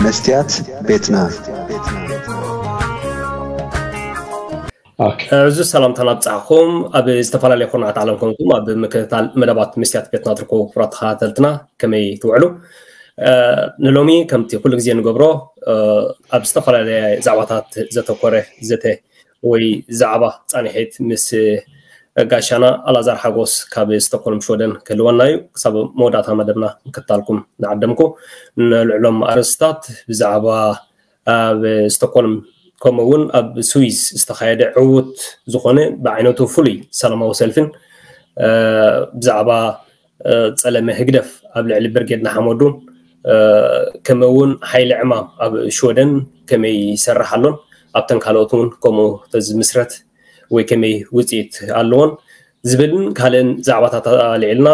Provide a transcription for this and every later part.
መስትያት ቤትና። ሕዙ ሰላምታና ብጻዕኹም ኣብ ዝተፈላለዩ ኩርናዓት ዓለም ኮንኩም ኣብ ምክትታል መደባት መስትያት ቤትና ትርከቡ ክቡራት ተኸታተልትና፣ ከመይ ትውዕሉ? ንሎሚ ከምቲ ኩሉ ግዜ ንገብሮ ኣብ ዝተፈላለየ ዛዕባታት ዘተኮረ ዘተ ወይ ዛዕባ ጻንሒት ምስ ጋሻና ኣላዛር ሓጎስ ካብ ስቶኮልም ሽወደን ክህልወና እዩ። ክሳብ መወዳእታ መደብና ምክትታልኩም ንዓደምኩ። ንልዕሎም ኣርእስታት ብዛዕባ ኣብ ስቶኮልም ከምኡ እውን ኣብ ስዊዝ ዝተኻየደ ዕዉት ዝኾነ ብዓይነቱ ፍሉይ ሰላማዊ ሰልፍን ብዛዕባ ጸለመ ህግደፍ ኣብ ልዕሊ ብርጌድ ንሓመዱን ከምኡ እውን ሓይሊ ዕማም ኣብ ሽወደን ከመይ ይሰርሕ ኣሎን ኣብተን ካልኦት እውን ከምኡ ተዝምስረት ወይ ከመይ ውፅኢት ኣለዎን ዝብልን ካልእን ዛዕባታት ኣልዒልና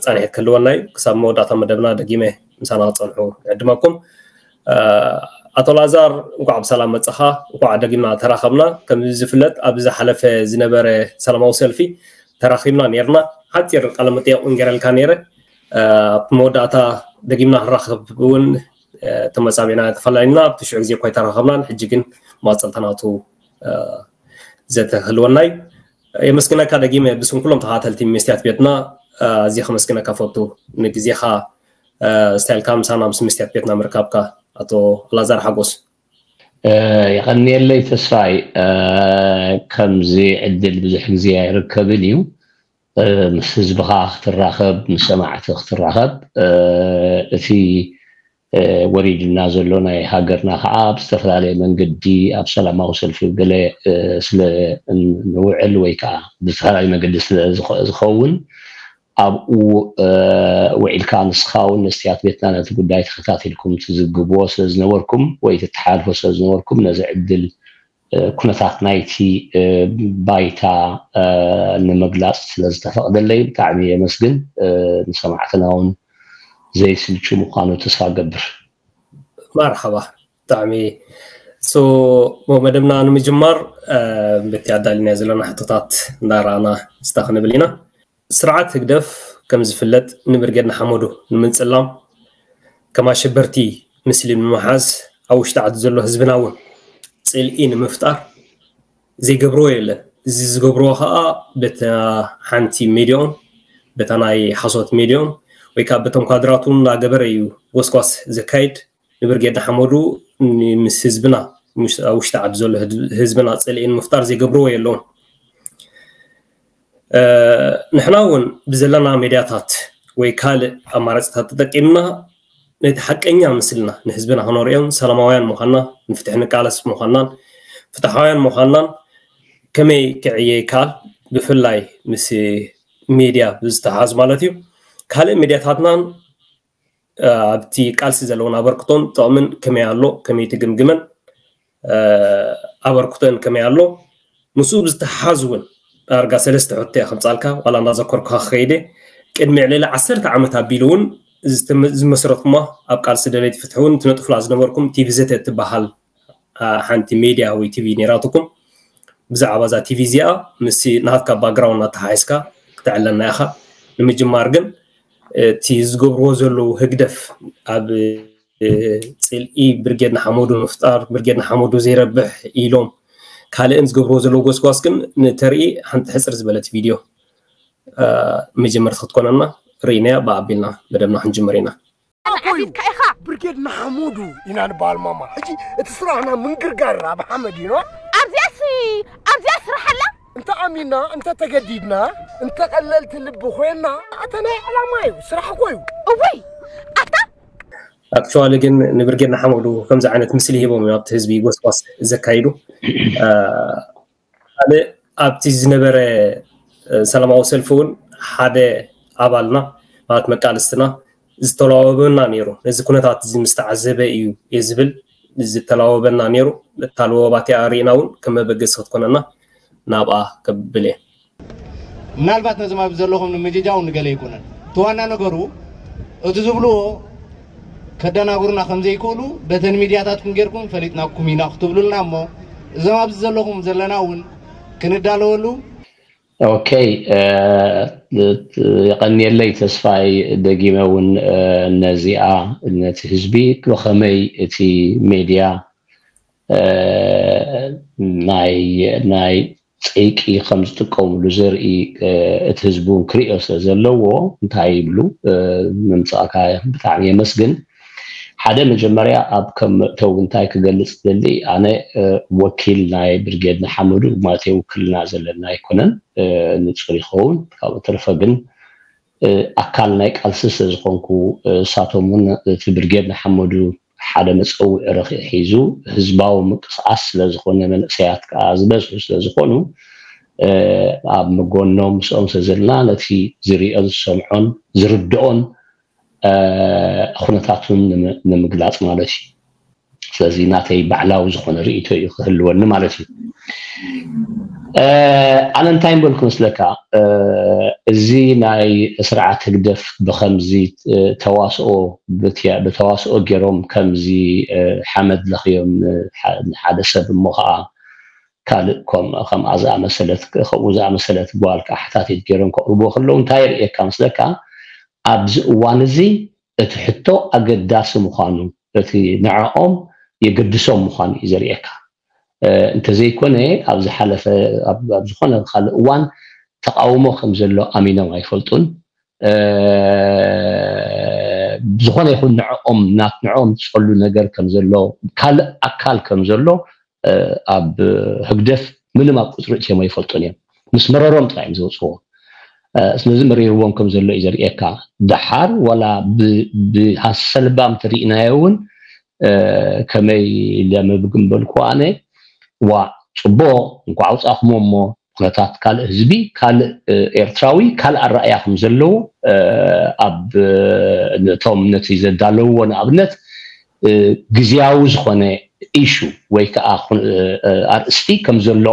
ፃንሒት ክህልወና እዩ። ክሳብ መወዳእታ መደብና ደጊመ ምሳና ክፀንሑ ዕድመኩም። ኣቶ ላዛር፣ እንኳዕ ብሰላም መፀኻ። እንኳዕ ደጊምና ተራኸብና። ከም ዝፍለጥ ኣብ ዝሓለፈ ዝነበረ ሰላማዊ ሰልፊ ተራኺብና ነርና። ሓፂር ቃለ መጠየቕ እውን ገረልካ ነይረ። ኣብ መወዳእታ ደጊምና ክንራኸብ እውን ተመፃቢዕና ተፈላለና ኣብቲ ሽዑ ግዜ እኳ ኣይተራኸብናን። ሕጂ ግን ማፀልታ ናቱ ዘተህልወና እዩ። የመስግነካ ደጊመ ብስም ኩሎም ተኸታተልቲ መስትያት ቤትና። ኣዝየ ከመስግነካ ፈቱ ንግዜኻ ስታይልካ ምሳና ምስ መስትያት ቤትና ምርካብካ ኣቶ ኣላዛር ሓጎስ። የቐንየለይ ተስፋይ። ከምዚ ዕድል ብዙሕ ግዜ ኣይርከብን እዩ። ምስ ህዝብኻ ክትራኸብ፣ ምስ ሰማዕቲ ክትራኸብ፣ እቲ ወሪድና ዘሎ ናይ ሃገርና ከዓ ብዝተፈላለየ መንገዲ ኣብ ሰላማዊ ሰልፊ ገለ ስለ ንውዕል ወይ ከዓ ብዝተፈላለየ መንገዲ ስለ ዝኸውን ኣብኡ ውዒልካ ንስኻ እውን መስትያት ቤትና ነቲ ጉዳይ ተኸታቲልኩም ትዝግብዎ ስለ ዝነበርኩም ወይ ትተሓልፎ ስለ ዝነበርኩም ነዚ ዕድል ኩነታት ናይቲ ባይታ ንምግላፅ ስለ ዝተፈቕደለይ ብጣዕሚ የመስግን። ንሰማዕትና እውን ዘይስልቹ ምዃኑ ተስፋ ገብር። መርሓባ። ብጣዕሚ ሶ መደብና ንምጅማር በቲ ኣዳሊና ዘለና ሕቶታት እንዳረኣና ስታ ክንብል ኢና። ስርዓት ህግደፍ ከም ዝፍለጥ ንብርጌድ ንሓመዱ ንምንጽላም ከም ኣሸበርቲ ምስሊ ንምሓዝ ኣብ ውሽጢ ዓዲ ዘሎ ህዝብና እውን ጽልኢ ንምፍጣር ዘይገብርዎ የለን። እዚ ዝገብርዎ ከዓ በታ ሓንቲ ሜድያኦም በታ ናይ ሓሶት ሜድያኦም ወይ ከዓ በቶም ኳድራቱ እንዳገበረ እዩ ጎስጓስ ዘካይድ። ንብርጌድ ንሓመዱ ምስ ህዝብና ኣብ ውሽጢ ዓዲ ዘሎ ህዝብና ጽልኢ ንምፍጣር ዘይገብርዎ የለውን። ንሕና እውን ብዘለና ሜድያታት ወይ ካልእ ኣማራፅታት ተጠቂምና ነቲ ሓቀኛ ምስልና ንህዝብና ከነርእዮን ሰላማውያን ምዃንና ንፍትሒ ንቃለስ ምዃንናን ፍትሓውያን ምዃንናን ከመይ ክዕየ ይከኣል? ብፍላይ ምስ ሜድያ ብዝተሓዝ ማለት እዩ። ካልእ ሜድያታትናን ኣብቲ ቃልሲ ዘለውን ኣበርክቶን ጥቕምን ከመይ ኣሎ ከመይ ትግምግመን ኣበርክቶን ከመይ ኣሎ ምስኡ ብዝተሓዝ እውን ዳርጋ ሰለስተ ሕቶ እየ ከምፃልካ ዋላ እንዳዘከርኩካ ክኸይደ ቅድሚ ዕልሊ ዓሰርተ ዓመት ኣቢሉ እውን ዝመስረትኩማ ኣብ ቃልሲ ደለይቲ ፍትሒ እውን ትነጥፉላ ዝነበርኩም ቲቪ ዘተ እትበሃል ሓንቲ ሜድያ ወይ ቲቪ ነይራትኩም። ብዛዕባ እዛ ቲቪ እዚኣ ምስ ናትካ ባክግራውንድ ኣተሓሒዝካ ክተዕለና ኢኻ። ንምጅማር ግን እቲ ዝገብርዎ ዘለዉ ህግደፍ ኣብ ፅልኢ ብርጌድ ንሓመዱ ምፍጣር ብርጌድ ንሓመዱ ዘይረብሕ ኢሎም ካልእን ዝገብርዎ ዘለዉ ጎስጓስ ግን ንተርኢ ሓንቲ ሕፅር ዝበለት ቪድዮ መጀመርቲ ክትኮነና ርኢናያ ብኣቢልና መደብና ክንጅምር ኢና። ኣልዓዚዝካ ኢኻ። ብርጌድ ንሓመዱ ኢና ንበሃል ማማ። ሕጂ እቲ ስራሕና ምንግርጋር ኣብ ሓመድ እዩ። ኣብዚኣስ ኣብዚኣ ስራሕ ኣላ። እንተ ኣሚና እንተ ተገዲድና እንተ ቀለልቲ ልቢ ኮይና ኣተ ናይ ዕላማ እዩ ስራሕ እኮ እዩ። እወይ ኣታ ኣክቹዋሊ ግን ንብርጌድ ንሓመዱ ከምዚ ዓይነት ምስሊ ሂቦም እዮም ኣብቲ ህዝቢ ጎስጓስ ዘካይዱ። ካልእ ኣብቲ ዝነበረ ሰላማዊ ሰልፊ እውን ሓደ ኣባልና ማለት መቃልስትና ዝተላወበና ነይሩ። ነዚ ኩነታት እዚ ምስ ተዓዘበ እዩ እየ ዝብል ዝተላወበና ነይሩ። እታ ለወባ እቲኣ ርኢና እውን ከም መበገሲ ክትኮነና ናብኣ ከብል እየ። ምናልባት ነዞም ኣብዚ ዘለኹም ንምጅጃው ንገለ ኣይኮነን። እቲ ዋና ነገሩ እቲ ዝብልዎ ከደናግሩና ከም ዘይክእሉ በተን ሚድያታትኩም ጌርኩም ፈሊጥናኩም ኢና ክትብሉልና እሞ እዞም ኣብዚ ዘለኹም ዘለና እውን ክንዳለወሉ ኦኬ፣ የቐንየለይ ተስፋይ። ደጊመ እውን ነዚኣ፣ ነቲ ህዝቢ ብኸመይ እቲ ሜድያ ናይ ናይ ጸይቂ ከም ዝጥቀምሉ ዘርኢ እቲ ህዝቢ እውን ክርእዮ ስለ ዘለዎ እንታይ ይብሉ ምምጻእካ ብጣዕሚ የመስግን። ሓደ መጀመርያ ኣብ ከም መእተዊ እንታይ ክገልጽ ደሊ፣ ኣነ ወኪል ናይ ብርጌድ ንሓመዱ ማለት ውክልና ዘለና ኣይኮነን፣ ንጹር ይኸውን። ካብኡ ተረፈ ግን ኣካል ናይ ቃልሲ ስለ ዝኾንኩ፣ እሳቶም እውን እቲ ብርጌድ ንሓመዱ ሓደ መጸውዒ ረኺ ሒዙ ህዝባዊ ምንቅስቃስ ስለ ዝኾነ፣ መንእሰያት ከኣ ዝበዝሑ ስለ ዝኾኑ፣ ኣብ መጎኖም ምስኦም ስለ ዘለና ነቲ ዝርእዮን ዝሰምዖን ዝርድኦን ኩነታቱን ንምግላጽ ማለት እዩ። ስለዚ ናተይ ባዕላዊ ዝኾነ ርእይቶ እዩ ክህልወኒ ማለት እዩ። ኣነ እንታይ ምበልኩ መስለካ፣ እዚ ናይ ስርዓት ህግደፍ ብኸምዚ ተዋስኦ ብተዋስኦ ገይሮም ከምዚ ሓመድ ለኽዮም ንሓደ ሰብ እሞ ከዓ ካልእ ከምኣ ዝኣመሰለት ከምኡ ዝኣመሰለት ጓል ከዓ ሓታቲት ገይሮም ከቕርቦ ከለዉ እንታይ የርእየካ መስለካ? ኣብዚ እዋን እዚ እቲ ሕቶ ኣገዳሲ ምዃኑ፣ እቲ ንዕኦም የገድሶም ምዃኑ እዩ ዘርእየካ። እንተዘይኮነ ኣብ ዝሓለፈ ኣብ ዝኾነ ካልእ እዋን ተቃውሞ ከም ዘሎ ኣሚኖም ኣይፈልጡን። ዝኾነ ይኹን ንዕኦም ናት ንዕኦም ዝጸሉ ነገር ከም ዘሎ፣ ካልእ ኣካል ከም ዘሎ ኣብ ህግደፍ ምንም ኣብ ቁጽሪ እትዮም ኣይፈልጡን እዮም። ምስ መረሮም ጥራይ እዮም ዘውፅዎ። ስለዚ መሪርዎም ከም ዘሎ እዩ ዘርእየካ። ደሓር ዋላ ብሰልባም ተሪእናዮ እውን ከመይ ለምብግምበልኩ ኣነ ዋ ፅቡቅ እንኳ ኣውፃእኩሞ እሞ ኩነታት ካልእ ህዝቢ ካልእ ኤርትራዊ ካልእ ኣረኣያ ከም ዘለዎ ኣብ ነቶም ነቲ ዘዳለውዎ ንኣብነት ግዝያዊ ዝኾነ ኢሹ ወይ ከዓ ኣርእስቲ ከም ዘሎ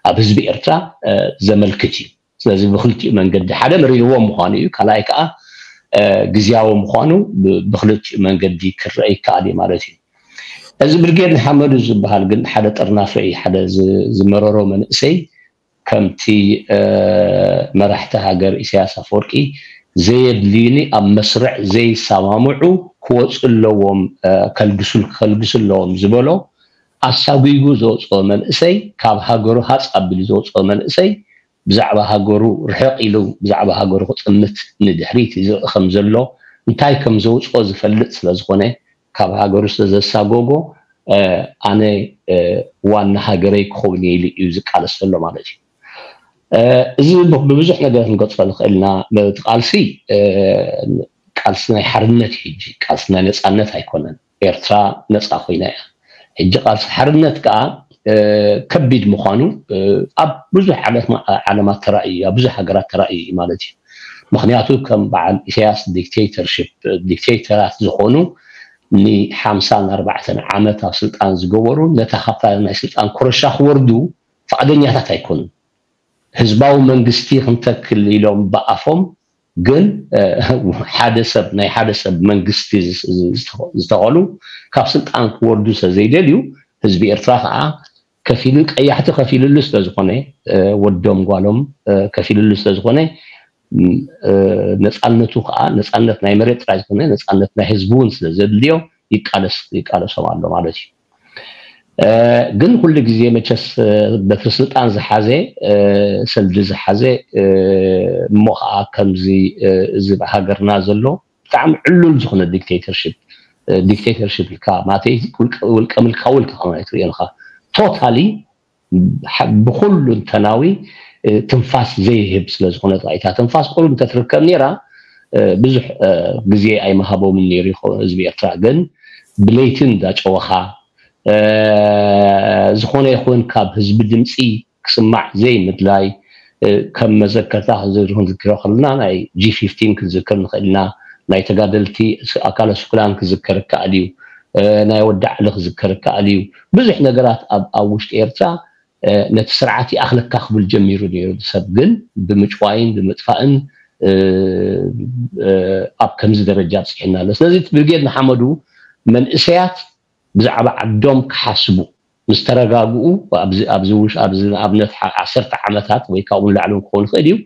ኣብ ህዝቢ ኤርትራ ዘመልክት እዩ። ስለዚ ብክልቲኡ መንገዲ ሓደ መሪርዎም ምዃኑ እዩ፣ ካልኣይ ከዓ ግዝያዊ ምዃኑ ብክልቲኡ መንገዲ ክረአ ይከኣል እዩ ማለት እዩ። እዚ ብርጌድ ንሓመዱ ዝበሃል ግን ሓደ ጥርናፈ እዩ። ሓደ ዝመረሮ መንእሰይ ከምቲ መራሕቲ ሃገር ኢሳያስ ኣፈወርቂ ዘየድልዩኒ ኣብ መስርዕ ዘይሰማምዑ ክወፁ ኣለዎም፣ ከልግሱ ከልግሱ ኣለዎም ዝበሎ ኣሳጒጉ ዘውፅኦ መንእሰይ፣ ካብ ሃገሩ ሃፅ ኣቢሉ ዘውፅኦ መንእሰይ ብዛዕባ ሃገሩ ርሕቕ ኢሉ ብዛዕባ ሃገሩ ክጥምት ንድሕሪት ዝርኢ ከም ዘሎ እንታይ ከም ዘውፅኦ ዝፈልጥ ስለ ዝኾነ ካብ ሃገሩ ስለ ዘሳጎጎ ኣነ ዋና ሃገረይ ክኸውን እየ ኢሉ እዩ ዝቃለስ ዘሎ ማለት እዩ። እዚ ብብዙሕ ነገር ክንገልፆ ንኽእል ኢና። እቲ ቃልሲ ቃልሲ ናይ ሓርነት እዩ፣ ሕጂ ቃልሲ ናይ ነፃነት ኣይኮነን። ኤርትራ ነፃ ኮይና እያ። ሕጂ ቃልሲ ሓርነት ከዓ ከቢድ ምዃኑ ኣብ ብዙሕ ዓለማት ተራእዩ፣ ኣብ ብዙሕ ሃገራት ተራእዩ እዩ ማለት እዩ። ምክንያቱ ከም በዓል ኢሳያስ ዲክቴተርሽፕ ዲክቴተራት ዝኾኑ ንሓምሳን ኣርባዕተን ዓመት ኣብ ስልጣን ዝገበሩ ነታ ካብታ ናይ ስልጣን ኮረሻ ክወርዱ ፍቓደኛታት ኣይኮኑን። ህዝባዊ መንግስቲ ክንተክል ኢሎም ብኣፎም ግን ሓደ ሰብ ናይ ሓደ ሰብ መንግስቲ ዝተኸሉ ካብ ስልጣን ክወርዱ ስለ ዘይደልዩ ህዝቢ ኤርትራ ከዓ ከፊሉ ቀያሕቲ ከፊልሉ ስለዝኾነ ወዶም ጓሎም ከፊልሉ ስለዝኾነ ነፃነቱ ከዓ ነፃነት ናይ መሬት ጥራይ ዝኾነ ነፃነት ናይ ህዝቢ እውን ስለ ዘድልዮ ይቃለሶም ኣሎ ማለት እዩ። ግን ኩሉ ግዜ መቸስ በትሪ ስልጣን ዝሓዘ ሰልዲ ዝሓዘ እሞ ከዓ ከምዚ እዚ ሃገርና ዘሎ ብጣዕሚ ዕሉል ዝኾነ ዲክቴተርሽፕ ዲክቴተርሽፕ ኢልካ ማለተይ ውልቀ ምልካዊ ኢልካ ከማይ ትሪኦ ኢኻ። ቶታሊ ብኩሉ እንተናዊ ትንፋስ ዘይህብ ስለ ዝኾነ ጥራይ እታ ትንፋስ ቁሩብ እንተትርከብ ነይራ ብዙሕ ግዜ ኣይመሃቦምን ነይሩ ይኸውን ህዝቢ ኤርትራ። ግን ብለይቲ እንዳጨወኻ ዝኾነ ይኹን ካብ ህዝቢ ድምፂ ክስማዕ ዘይምድላይ ከም መዘከርታ ክንዝክሮ ከለና ናይ ጂ ፊፍቲን ክንዝክር ንኽእል ኢና። ናይ ተጋደልቲ ኣካለ ስኩላን ክዝከር ይከኣል እዩ። ናይ ወዲ ዓሊ ክዝከር ይከኣል እዩ። ብዙሕ ነገራት ኣብ ውሽጢ ኤርትራ ነቲ ስርዓት ይኣኽለካ ክብል ጀሚሩ ነይሩ። ሰብ ግን ብምጭዋይን ብምጥፋእን ኣብ ከምዚ ደረጃ ኣብፅሒና ኣሎ። ስለዚ እቲ ብርጌድ ንሓመዱ መንእሰያት ብዛዕባ ዓዶም ክሓስቡ ምስ ተረጋግኡ፣ ኣብዚ ንኣብነት ዓሰርተ ዓመታት ወይ ካብኡ ንላዕሊ ክኸውን ይኽእል እዩ፣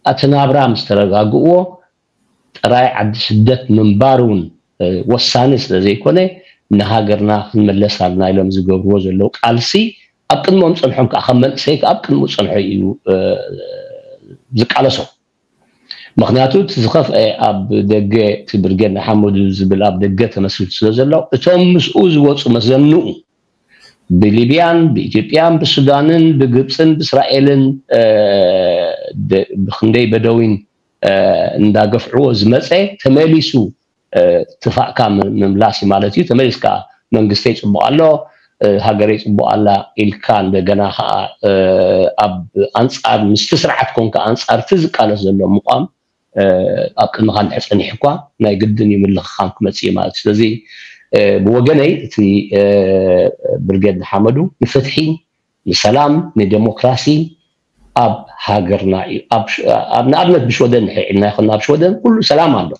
እቲ ናብራ ምስ ተረጋግእዎ ጥራይ ዓዲ ስደት ምንባር እውን ወሳኒ ስለ ዘይኮነ፣ ንሃገርና ክንመለስ ኣለና ኢሎም ዝገብርዎ ዘለዉ ቃልሲ ኣብ ቅድሞም ጸንሖም ከዓ ከም መንእሰይ ኣብ ቅድሙ ጸንሖ እዩ ዝቃለሶ። ምክንያቱ እቲ ዝኸፍአ ኣብ ደገ፣ እቲ ብርጌድ ንሓመዱ ዝብል ኣብ ደገ ተመስሪቱ ስለ ዘሎ፣ እቶም ምስኡ ዝወፁ መዘንኡ ብሊብያን ብኢትዮጵያን ብሱዳንን ብግብፅን ብእስራኤልን ብክንደይ በደዊን እንዳገፍዕዎ ዝመፀ ተመሊሱ ትፋእካ ምምላስ ማለት እዩ። ተመሊስካ መንግስተይ ፅቡቅ ኣሎ፣ ሃገረይ ፅቡቅ ኣላ ኢልካ እንደገና ከዓ ኣብ ኣንፃር ምስቲ ስርዓት ኮንካ ኣንፃር እቲ ዝቃለስ ዘሎ ምቋም ኣብ ቅድመኻ እንድሕር ፀኒሑ እኳ ናይ ግድን እዩ ምልኽኻም ክመፅእ እዩ ማለት እዩ። ስለዚ ብወገነይ እቲ ብርጌድ ንሓመዱ ንፍትሒ፣ ንሰላም፣ ንዴሞክራሲ ኣብ ሃገርና እዩ። ንኣብነት ብሽወደን ንሕዒልና ይኮና ኣብ ሽወደን ኩሉ ሰላም ኣሎ፣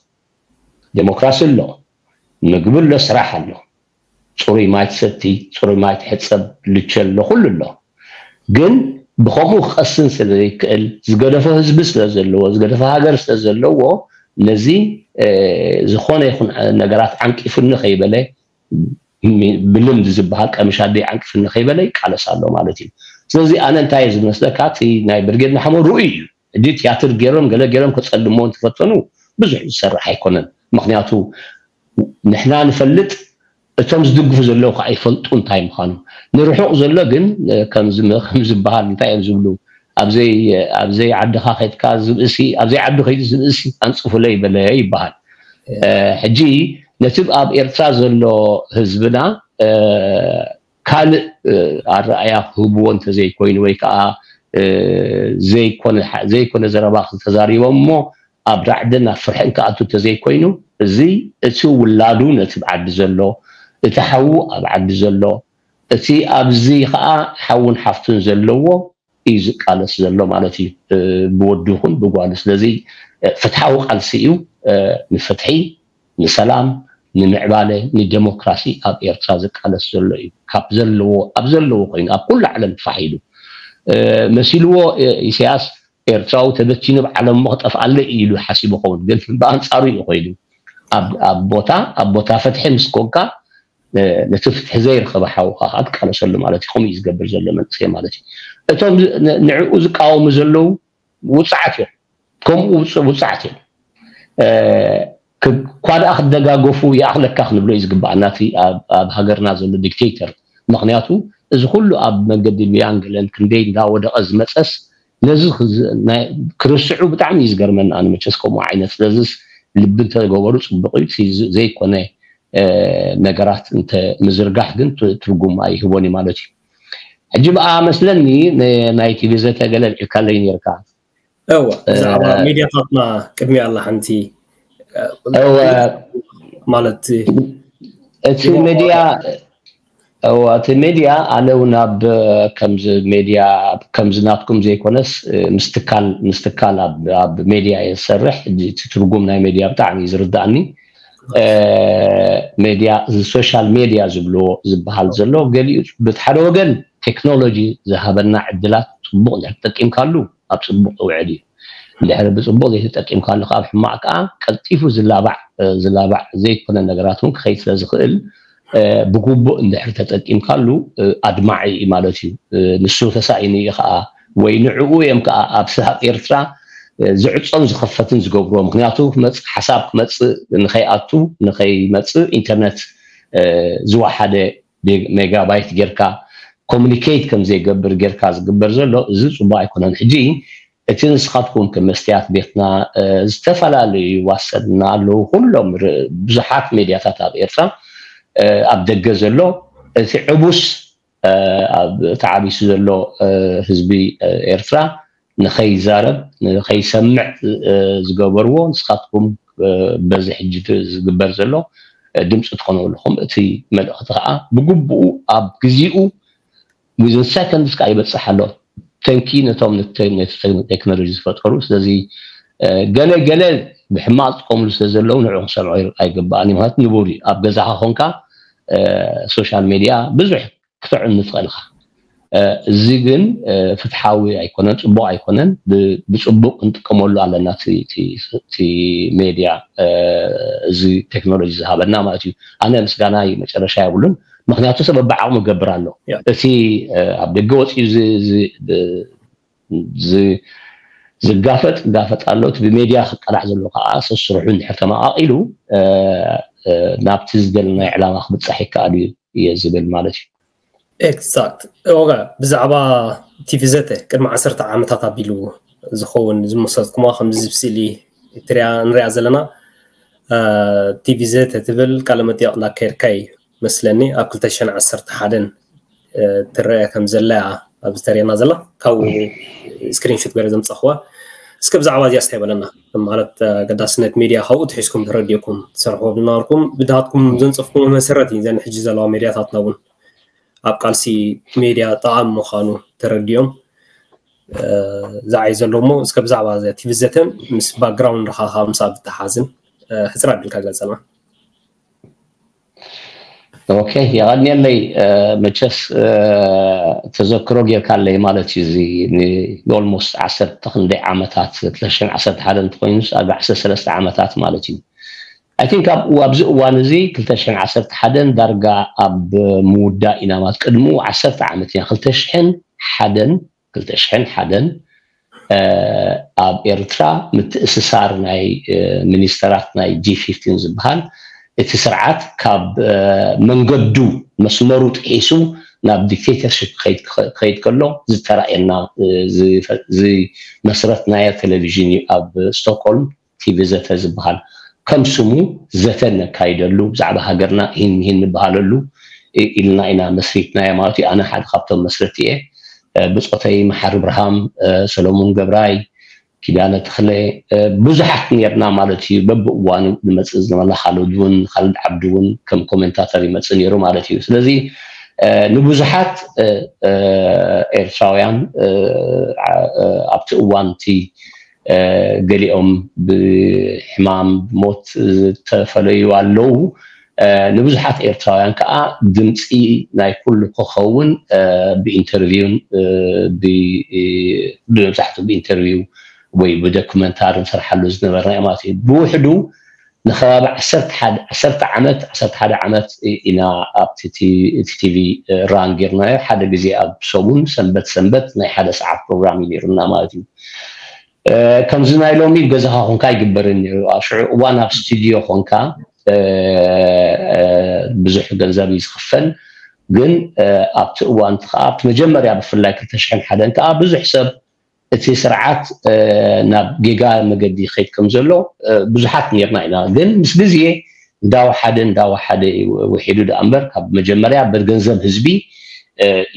ዴሞክራሲ ኣሎ፣ ምግቢ ኣሎ፣ ስራሕ ኣሎ፣ ፅሩይ ማይ ትሰቲ፣ ፅሩይ ማይ ትሕፀብ፣ ልቸ ኣሎ፣ ኩሉ ኣሎ። ግን ብከምኡ ክቐስን ስለ ዘይክእል ዝገደፎ ህዝቢ ስለ ዘለዎ ዝገደፈ ሃገር ስለ ዘለዎ ነዚ ዝኾነ ይኹን ነገራት ዓንቂፉኒ ከይበለ ብልምድ ዝበሃል ቀምሽ ኣደይ ዓንቂፉኒ ከይበለ ይቃለስ ኣሎ ማለት እዩ። ስለዚ ኣነ እንታይ ዝመስለካ እቲ ናይ ብርጌድ ንሓመዱ ርኡይ እዩ። ሕጂ ትያትር ገይሮም ገለ ገይሮም ከጸልሞ እንተፈተኑ ብዙሕ ዝሰርሕ ኣይኮነን። ምክንያቱ ንሕና ንፈልጥ እቶም ዝድግፉ ዘለዉ ከዓ ይፈልጡ እንታይ ምዃኑ። ንርሑቕ ዘሎ ግን ከም ዝበሃል እንታይ እዮም ዝብሉ፣ ኣብዘይ ዓድኻ ከድካ ዝብእሲ ኣብዘይ ዓዱ ከይዱ ዝብእሲ ኣንፅፉለይ በለ ይበሃል። ሕጂ ነቲ ኣብ ኤርትራ ዘሎ ህዝብና ካልእ ኣረኣያ ክህብዎ እንተዘይኮይኑ ወይ ከዓ ዘይኮነ ዘረባ ተዛሪቦም እሞ ኣብ ራዕድን ኣብ ፍርሕን ክኣቱ እንተዘይኮይኑ እዚ እቲ ውላዱ ነቲ ዓዲ ዘሎ እቲ ሓዉ ኣብ ዓዲ ዘሎ እቲ ኣብዚ ከዓ ሓውን ሓፍቱን ዘለዎ እዩ ዝቃለስ ዘሎ ማለት እዩ። ብወዱ ይኹን ብጓሉ። ስለዚ ፍትሓዊ ቃልሲ እዩ። ንፍትሒ፣ ንሰላም፣ ንምዕባለ፣ ንዴሞክራሲ ኣብ ኤርትራ ዝቃለስ ዘሎ እዩ። ካብ ዘለዎ ኣብ ዘለዎ ኮይኑ ኣብ ኩሉ ዓለም ፋሕ ኢሉ መሲልዎ ኢሳያስ ኤርትራዊ ተበቲኑ ኣብ ዓለም እሞ ክጠፍኣለይ እዩ ኢሉ ሓሲቡ ይኸውን። ግን ብኣንጻሩ እዩ ኮይኑ ኣብ ቦታ ኣብ ቦታ ፍትሒ ምስ ኮንካ ነቲ ፍትሒ ዘይረኸበ ሓውካ ከዓ ትቃለሰሉ ማለት እዩ። ከምኡ እዩ ዝገብር ዘሎ መንእሰይ ማለት እዩ። እቶም ንዕኡ ዝቃወሙ ዘለዉ ውፅዓት እዮም። ከምኡ ውፅዓት እዮም። እኳ ደኣ ክደጋገፉ ይኣኽለካ ክንብሎ እዩ ዝግባኣና እቲ ኣብ ሃገርና ዘሎ ዲክቴተር። ምክንያቱ እዚ ኩሉ ኣብ መንገዲ ሊብያን ገለን ክንደይ እንዳወደቐ ዝመፀስ ነዚ ክርስዑ ብጣዕሚ እዩ ዝገርመኒ ኣነ መቸስ ከምኡ ዓይነት። ስለዚስ ልቢ እንተገበሩ ፅቡቅ እዩ። ዘይኮነ ነገራት እንተ ምዝርጋሕ ግን ትርጉም ኣይህቦን እዩ ማለት እዩ። ሕጂ ብኣ መስለኒ ናይቲ ግዘተ ገለ ልዒልካለይ ነርካ። እወ ብዛዕባ ሜድያታትና ቅድሚያ ኣላ ሓንቲ እወ ማለት እቲ ሜድያ እወ እቲ ሜድያ ኣነ እውን ኣብ ከምዚ ሜድያ ከምዚ ናትኩም ዘይኮነስ ምስ ትካል ምስ ትካል ኣብ ሜድያ እየ ዝሰርሕ። እቲ ትርጉም ናይ ሜድያ ብጣዕሚ እዩ ዝርዳእኒ። ሜድያ ሶሻል ሜድያ ዝብልዎ ዝበሃል ዘሎ ገሊኡ በቲ ሓደ ወገን ቴክኖሎጂ ዝሃበና ዕድላት ፅቡቕ እንድሕር ተጠቂምካሉ ኣብ ፅቡቕ ውዕል እዩ። እንድሕር ብፅቡቕ ዘይተጠቂምካሉ ካብ ሕማቕ ከዓ ቀልጢፉ ዝላባዕ ዝላባዕ ዘይኮነ ነገራት እውን ክኸይድ ስለ ዝኽእል ብግቡእ እንድሕር ተጠቂምካሉ ኣድማዒ እዩ ማለት እዩ። ንሱ ተሳኢኑ እዩ ከዓ ወይ ንዕኡ እዮም ከዓ ኣብ ስሃብ ኤርትራ ዝዕፀን ዝኸፈትን ዝገብርዎ። ምክንያቱ ክመፅእ ሓሳብ ክመፅእ ንኸይኣቱ ንኸይመፅእ ኢንተርነት ዝወሓደ ሜጋባይት ጌርካ ኮሚኒኬት ከም ዘይገብር ጌርካ ዝግበር ዘሎ እዚ ፅቡቅ ኣይኮነን። ሕጂ እቲ ንስኻትኩም ከም መስትያት ቤትና ዝተፈላለዩ ዋሰድና ኣለዉ ኩሎም ብዙሓት ሜድያታት ኣብ ኤርትራ ኣብ ደገ ዘሎ እቲ ዕቡስ ተዓቢሱ ዘሎ ህዝቢ ኤርትራ ንኸይዛረብ ንኸይሰምዕ ዝገበርዎ ንስኻትኩም በዚ ሕጂ ዝግበር ዘሎ ድምፂ ትኾኑ ኣለኹም። እቲ መልእኽቲ ከዓ ብግቡኡ ኣብ ግዜኡ within seconds ከዓ ይበፅሕ ኣሎ። ተንኪ ነቶም ቴክኖሎጂ ዝፈጠሩ። ስለዚ ገለ ገለ ብሕማቅ ዝጥቀምሉ ስለ ዘለዉ ንዑ ክሰምዖ ኣይግባእን እዩ። ማለት ንቡር እዩ ኣብ ገዛኻ ኮንካ ሶሻል ሜድያ ብዙሕ ክትዕኑ ትኽእል ኢኻ። እዚ ግን ፍትሓዊ ኣይኮነን፣ ፅቡቕ ኣይኮነን። ብፅቡቕ ክንጥቀመሉ ኣለና። እቲ ሜድያ እዚ ቴክኖሎጂ ዝሃበና ማለት እዩ። ኣነ ምስጋናይ መጨረሻ የብሉን፣ ምክንያቱ ሰብ በብዓቕሙ ይገብር ኣሎ። እቲ ኣብ ደገ ወፂኡ ዝጋፈጥ ይጋፈጥ ኣሎ። እቲ ብሜድያ ክቀላዕ ዘሎ ከዓ ሰስርሑ እንድሕር ተመቓቒሉ ናብቲ ዝደለናዮ ዕላማ ክብፃሕ ይከኣል እዩ እየ ዝብል ማለት እዩ። ኤግዛክት። ኦጋ፣ ብዛዕባ ቲቪ ዘተ ቅድሚ ዓሰርተ ዓመታት ኣቢሉ ዝኸውን ዝመሰልኩማ ከምዚ ብስእሊ ትሪያ ንሪኣ ዘለና ቲቪ ዘተ ትብል ቃለ መጠይቕ እናካየድካ እዩ መስለኒ። ኣብ ክልተ ሽሕን ዓሰርተ ሓደን ትረአ ከም ዘላ እያ ኣብዚ ተርእየና ዘላ። ካብኡ ስክሪንሾት ገይረ ዘምፀኽዋ። እስከ ብዛዕባ እዚኣ ስታይ በለና። ማለት ኣገዳስነት ሜድያ ካብኡ ትሒዝኩም ተረዲእኩም ትሰርሕዎ ዝነበርኩም ብድሃትኩም ዘንፀፍኩም መሰረት እዩ። ዘን ሕጂ ዘለዋ ሜድያታትና እውን ኣብ ቃልሲ ሜድያ ጠቓሚ ምዃኑ ተረዲኦም ዝዓይ ዘሎ እሞ እስከ ብዛዕባ ቲቪ ዘተን ምስ ባክግራውንድኻ ካብ ምሳኣ ብተሓዝን ሕፅር ኣቢልካ ገልፀልና። ኦኬ፣ የቐንየለይ። መቸስ ተዘክሮ ጌርካለይ ማለት እዩ። እዚ ንኦልሞስት ዓሰርተ ክንደይ ዓመታት፣ ክልተ ሽሕን ዓሰርተ ሓደን እንተኮይኑስ ኣብ ዓሰርተ ሰለስተ ዓመታት ማለት እዩ። ኣይ ቲንክ ኣብዚ እዋን እዚ ክልተ ሽሕን ዓሰርተ ሓደን ዳርጋ ኣብ ምውዳእ ኢና ማለት ቅድሚኡ ዓሰርተ ዓመት ኢና። ክልተ ሽሕን ሓደን ክልተ ሽሕን ሓደን ኣብ ኤርትራ ምትእስሳር ናይ ሚኒስተራት ናይ ጂ ፊፍቲን ዝበሃል እቲ ስርዓት ካብ መንገዱ መስመሩ ጥሒሱ ናብ ዲክቴተርሽፕ ክኸይድ ከሎ ዝተራእየና ዝመስረትናዮ ቴሌቪዥን እዩ ኣብ ስቶክሆልም ቲቪ ዘተ ዝበሃል። ከም ስሙ ዘተ ነካይደሉ፣ ብዛዕባ ሃገርና ይህን ይህን ንበሃለሉ ኢልና ኢና መስሪትናዮ ማለት እዩ። ኣነ ሓደ ካብቶም መስረቲ እየ። ብፆተይ መሓሪ ብርሃም፣ ሰሎሙን ገብራይ፣ ኪዳነ ተኽለ፣ ብዙሓት ነርና ማለት እዩ። በብእዋኑ ንመፅእ ዝነበርና፣ ካልድ እውን፣ ካልድ ዓብዲ እውን ከም ኮሜንታተር ይመፅእ ነይሩ ማለት እዩ። ስለዚ ንብዙሓት ኤርትራውያን ኣብቲ እዋን እቲ ገሊኦም ብሕማም ብሞት ዝተፈለዩ ኣለዉ። ንብዙሓት ኤርትራውያን ከዓ ድምፂ ናይ ኩሉ ክኸውን ብኢንተርቪውን መብዛሕትኡ ብኢንተርቪው ወይ ብዶክመንታሪ ንሰርሓሉ ዝነበርና ማለት እዩ። ብውሕዱ ንከባቢ ዓሰርተ ዓመት ዓሰርተ ሓደ ዓመት ኢና ኣብቲ ቲቪ ራን ጌርናዮ። ሓደ ግዜ ኣብ ሰሙን ሰንበት ሰንበት ናይ ሓደ ሰዓት ፕሮግራም እዩ ነይሩና ማለት እዩ። ከምዚ ናይ ሎሚ ገዛኻ ኮንካ ኣይግበርን ነይሩ። ኣብ ሽዑ እዋን ኣብ ስቱድዮ ኮንካ ብዙሕ ገንዘብ እዩ ዝኽፈል። ግን ኣብቲ እዋን ከዓ ኣብቲ መጀመርያ ብፍላይ ክልተ ሽሕን ሓደን ከዓ ብዙሕ ሰብ እቲ ስርዓት ናብ ጌጋ መገዲ ይኸይድ ከም ዘሎ ብዙሓት ነርና ኢና። ግን ምስ ግዜ እንዳወሓደ እንዳወሓደ ውሒዱ ደኣ እምበር ካብ መጀመርያ ብገንዘብ ህዝቢ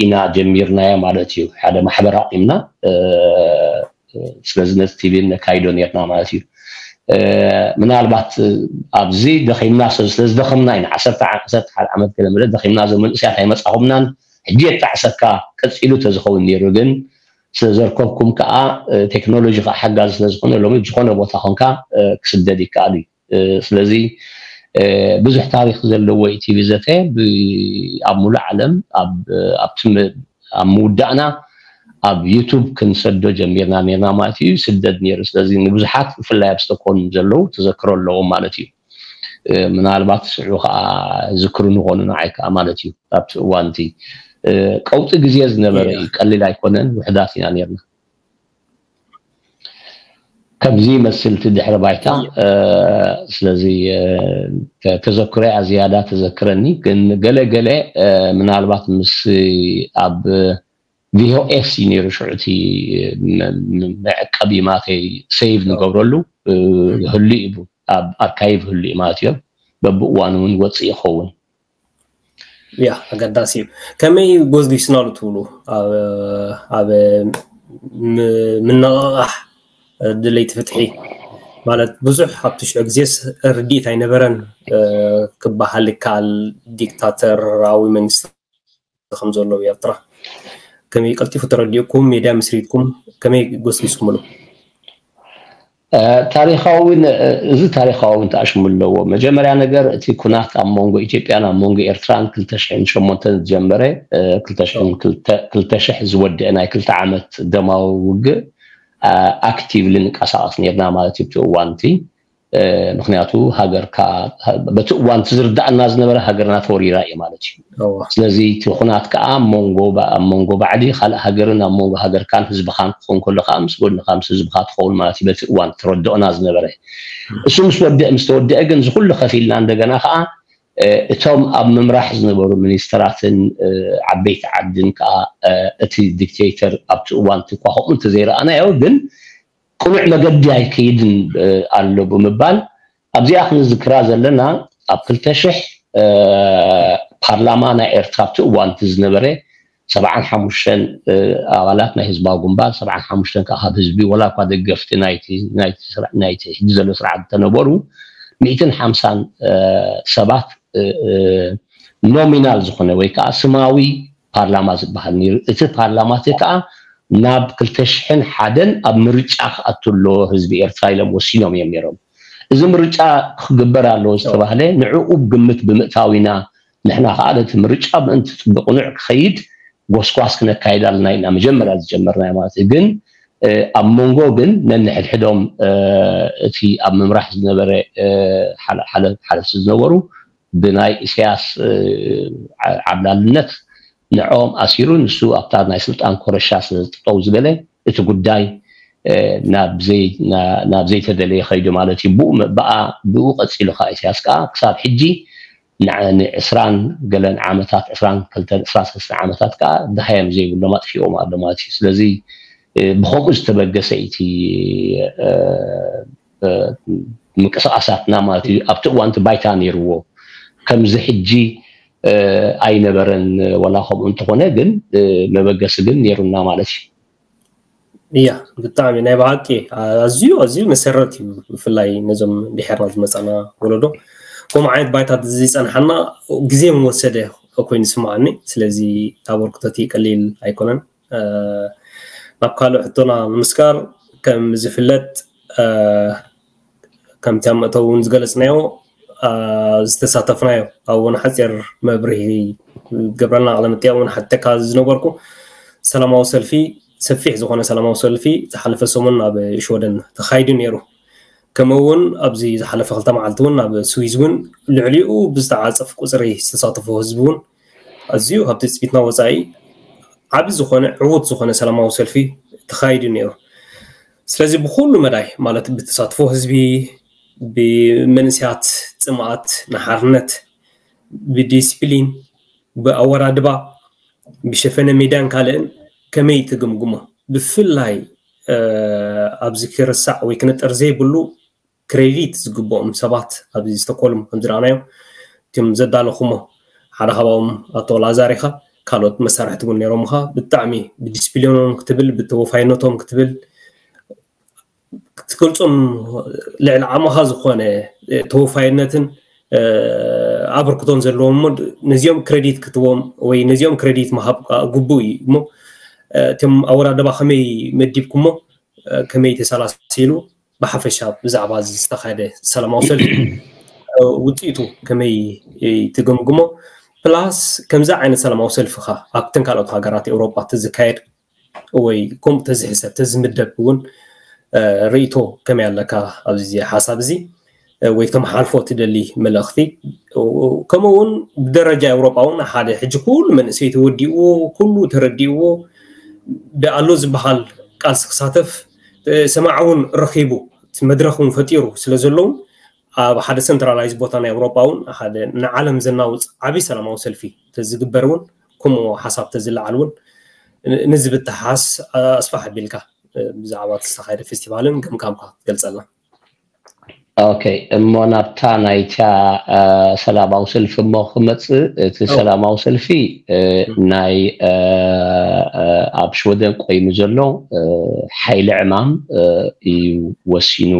ኢና ጀሚርናዮ ማለት እዩ። ሓደ ማሕበር ኣቂምና ስለዚ ነቲ ቲቪ ነካይዶ ነርና ማለት እዩ። ምናልባት ኣብዚ ደኺምና ስለዝደኸምና ኢና ዓሰርተ ሓደ ዓመት ገለ መለ ደኺምና፣ እዞም መንእሰያት ኣይመጻኹምናን ሕጂ የጣዕሰካ ቀጺሉ ተዝኸውን ነይሩ። ግን ስለዘርከብኩም ከዓ ቴክኖሎጂ ከዓ ሓጋዚ ስለዝኾነ ሎሚ ዝኾነ ቦታ ኮንካ ክስደድ ይከኣል እዩ። ስለዚ ብዙሕ ታሪክ ዘለዎ እዩ ቲቪ ዘተ። ኣብ ሙሉእ ዓለም ኣብቲ ኣብ ምውዳእና ኣብ ዩቱብ ክንሰዶ ጀሚርና ነርና ማለት እዩ። ስደድ ነይሩ። ስለዚ ንብዙሓት ብፍላይ ኣብ ስቶኮልም ዘለዉ ተዘክሮ ኣለዎም ማለት እዩ። ምናልባት ስዑ ከዓ ዝክሩ ንኾኑ ንዓይ ከዓ ማለት እዩ። ኣብቲ እዋን እቲ ቀውጢ ግዜ ዝነበረ እዩ። ቀሊል ኣይኮነን። ውሕዳት ኢና ነርና። ከምዚ ይመስል እቲ ድሕረ ባይታ። ስለዚ ተዘክሮያ ዝያዳ ተዘክረኒ። ግን ገለ ገለ ምናልባት ምስ ኣብ ቪኦኤስ እዩ ነይሩ ሽዑ እቲ መዕቀቢ ማተይ ሴቭ ንገብረሉ ህሉ እዩ፣ ኣብ ኣርካይቭ ህሉ እዩ ማለት እዮም። በብእዋኑ እውን ይወፅእ ይኸውን። ያ ኣገዳሲ እዩ። ከመይ ጎዝጊስናሉ ትብሉ ኣብ ምንቕቓሕ ድለይቲ ፍትሒ ማለት ብዙሕ ኣብቲ ሽዑ ግዜስ ርድኢት ኣይነበረን ክበሃል ይከኣል። ዲክታተራዊ መንግስቲ ከም ዘሎ ኤርትራ ከመይ ቀልጢፉ ተረዲእኩም ሜድያ ምስሪትኩም ከመይ ጎስጊስኩምሉ? ታሪኻዊ እውን እዚ ታሪኻዊ እውን ተኣሽሙ ኣለዎ። መጀመርያ ነገር እቲ ኩናት ኣብ መንጎ ኢትዮጵያን ኣብ መንጎ ኤርትራን ክልተ ሽሕን ሸሞንተን ዝጀመረ ክልተ ሽሕ ዝወደአ ናይ ክልተ ዓመት ደማዊ ውግእ ኣክቲቭሊ ንቀሳቐስ ነርና ማለት እዩ። እቲ እዋን እቲ ምክንያቱ ሃገርካ በቲ እዋን እቲ ዝርዳእና ዝነበረ ሃገርና ተወሪራ እዩ ማለት እዩ። ስለዚ እቲ ኩናት ከዓ ኣብ መንጎ ባዕዲ ካልእ ሃገርን ኣብ መንጎ ሃገርካን ህዝብኻን ክኸውን ከሎ ከዓ ምስ ጎድንካ ምስ ህዝብካ ትኸውን ማለት እዩ። በቲ እዋን ትረድኦና ዝነበረ እሱ ምስ ወደአ ምስ ተወደአ ግን ዝኩሉ ከፊልና እንደገና ከዓ እቶም ኣብ ምምራሕ ዝነበሩ ሚኒስተራትን ዓበይቲ ዓድን ከዓ እቲ ዲክቴተር ኣብቲ እዋን ትኳ ከምኡ እንተዘይረኣናዮ ግን ቅኑዕ መገዲ ኣይከይድን ኣሎ ብምባል ኣብዚኣ ክንዝክራ ዘለና ኣብ ክልተ ሽሕ ፓርላማ ናይ ኤርትራ ኣብቲ እዋን እቲ ዝነበረ ሰብዓን ሓሙሽተን ኣባላት ናይ ህዝባዊ ግንባር ሰብዓን ሓሙሽተን ከዓ ካብ ህዝቢ ወላ እኳ ደገፍቲ ናይቲ ናይቲ ስራ- ናይቲ ሕጂ ዘሎ ስርዓት እንተነበሩ ሚእትን ሓምሳን ሰባት ኖሚናል ዝኾነ ወይ ከዓ ስማዊ ፓርላማ ዝበሃል ነይሩ። እቲ ፓርላማ እቲ ከዓ ናብ ክልተ ሽሕን ሓደን ኣብ ምርጫ ክኣቱ ኣለዎ ህዝቢ ኤርትራ ኢሎም ወሲኖም እዮም ነይሮም። እዚ ምርጫ ክግበር ኣለዎ ዝተባህለ ንዕኡ ግምት ብምእታው ኢና ንሕና ከዓ ነቲ ምርጫ ምእንቲ ብቕኑዕ ክኸይድ ጎስጓስ ክነካይድ ኣለና ኢና መጀመርያ ዝጀመርናዮ ማለት እዩ። ግን ኣብ መንጎ ግን ነንሕድሕዶም እቲ ኣብ ምምራሕ ዝነበረ ሓለፍቲ ዝነበሩ ብናይ ኢሳያስ ዓብላልነት ንዕኦም ኣሲሩ ንሱ ኣብታ ናይ ስልጣን ኮረሻ ስለዝጠጠው ዝበለ እቲ ጉዳይ ናብ ዘይተደለየ ከይዱ ማለት እዩ። ብኡ ቀፂሉ ከዓ ኢሳያስ ከዓ ክሳብ ሕጂ ንዕስራን ገለን ዓመታት ዕስራን ክልተን ዕስራን ሰለስተን ዓመታት ከዓ ደሃዮም ዘይብሎም ኣጥፊኦም ኣሎ ማለት እዩ። ስለዚ ብከምኡ ዝተበገሰ እቲ ምንቅስቃሳትና ማለት እዩ ኣብቲ እዋን እቲ ባይታ ነይርዎ ከምዚ ሕጂ ኣይነበረን። ወላ ከምኡ እንተኾነ ግን መበገሲ ግን ነይሩና ማለት እዩ። እያ ብጣዕሚ ናይ ብሓቂ ኣዝዩ ኣዝዩ መሰረት እዩ። ብፍላይ ነዞም ድሕርና ዝመፃና ወለዶ ከምኡ ዓይነት ባይታት ዝፀንሓና ግዜ ምወሰደ ኮይኑ ስምዓኒ። ስለዚ ኣበርክቶቲ ቀሊል ኣይኮነን። ናብ ካልእ ሕቶና ንምስጋር ከም ዝፍለጥ ከምቲ ኣብ መእተዊ እውን ዝገለፅናዮ ዝተሳተፍናዮ ኣብ እውን ሓፂር መብርሂ ገብረና ቃለ መጠየቅ እውን ሓተካ ዝነበርኩ ሰላማዊ ሰልፊ ሰፊሕ ዝኾነ ሰላማዊ ሰልፊ ዝሓለፈ ሰሙን ኣብ ሽወደን ተኻይዱ ነይሩ። ከምኡ እውን ኣብዚ ዝሓለፈ ክልተ መዓልቲ እውን ኣብ ስዊዝ እውን ልዕሊኡ ብዝተዓፀፍ ቁፅሪ ዝተሳተፎ ህዝቢ እውን ኣዝዩ ካብ ትፅቢትና ወፃኢ ዓቢ ዝኾነ ዕዉት ዝኾነ ሰላማዊ ሰልፊ ተኻይዱ ነይሩ። ስለዚ ብኩሉ መዳይ ማለት ብተሳትፎ ህዝቢ፣ ብመንእሰያት ፅምኣት ንሓርነት፣ ብዲስፕሊን፣ ብኣወዳድባ፣ ብሸፈነ ሜዳን ካልእን ከመይ ትግምግሞ? ብፍላይ ኣብዚ ክርሳዕ ወይ ክነጠር ዘይብሉ ክሬዲት ዝግብኦም ሰባት ኣብዚ ስቶኮልም ከም ዝረኣናዮ እቶም ዘዳለኹሞ ሓደ ካብኦም ኣቶ ላዛር ኢኻ። ካልኦት መሳርሕቲ እውን ነይሮምኻ። ብጣዕሚ ብዲስፕሊኖም ክትብል ብተወፋይነቶም ክትብል ክትገልጾም ልዕሊ ዓቕምኻ ዝኾነ ተወፋይነትን ኣበርክቶን ዘለዎም እሞ ነዚኦም ክሬዲት ክትዎም ወይ ነዚኦም ክሬዲት ምሃብ ግቡእ እዩ እሞ እቶም ኣወዳድባ ከመይ መዲብኩሞ ከመይ ተሰላሲሉ ብሓፈሻ ብዛዕባ ዝተኻየደ ሰላማዊ ሰልፊ ውፅኢቱ ከመይ ትገምግሞ? ፕላስ ከምዚ ዓይነት ሰላማዊ ሰልፊ ኸ ኣብተን ካልኦት ሃገራት ኤውሮጳ ተዝካየድ ወይ ከምኡ ተዝሕሰብ ተዝምደብ እውን ርእይቶ ከመይ ኣለካ ኣብዚ ሓሳብ እዚ ወይ ክተመሓልፎ ትደሊ መልእኽቲ? ከምኡ እውን ብደረጃ ኤውሮጳ እውን ሓደ ሕጂ ኩሉ መንእሰይ ተወዲእዎ ኩሉ ተረዲእዎ ብኣሎ ዝበሃል ቃልሲ ክሳተፍ ሰማዕ እውን ረኺቡ መድረኽ እውን ፈጢሩ ስለ ዘለውን ኣብ ሓደ ሰንትራላይዝ ቦታ ናይ ኤውሮጳ እውን ሓደ ንዓለም ዘናውፅ ዓብዪ ሰላማዊ ሰልፊ ተዝግበር እውን ከምኡ ሓሳብ ተዝለዓል እውን ንዝብተሓስ ኣስፋሕ ኣቢልካ ብዛዕባ ዝተኻየደ ፌስቲቫልን ገምጋምካ ትገልፀልና። ኦኬ እሞ ናብታ ናይታ ሰላማዊ ሰልፊ እሞ ክመፅእ እቲ ሰላማዊ ሰልፊ ናይ ኣብ ሽወደን ቆይሙ ዘሎ ሓይሊ ዕማም እዩ ወሲኑ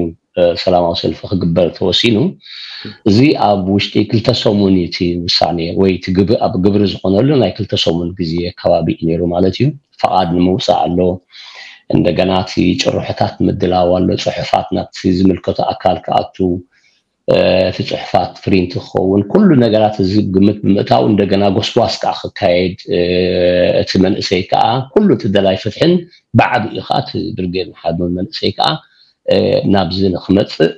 ሰላማዊ ሰልፊ ክግበር ተወሲኑ። እዚ ኣብ ውሽጢ ክልተ ሰሙን እዩ እቲ ውሳኔ ወይ እቲ ኣብ ግብሪ ዝኾነሉ ናይ ክልተ ሰሙን ግዜ ከባቢ እዩ ነይሩ ማለት እዩ። ፈቓድ ንምውፃእ ኣሎ። እንደገና እቲ ጭርሖታት ምድላው ኣሎ፣ ጽሑፋት ናብቲ ዝምልከቶ ኣካል ክኣቱ፣ እቲ ጽሑፋት ፕሪንት ክኸውን፣ ኩሉ ነገራት እዚ ግምት ብምእታው እንደገና ጎስጓስ ከዓ ክካየድ፣ እቲ መንእሰይ ከዓ ኩሉ እቲ ደላይ ፍትሕን ብዓቢኡ ከዓ እቲ ብርጌድ ንሓድነት መንእሰይ ከዓ ናብዚ ንክመፅእ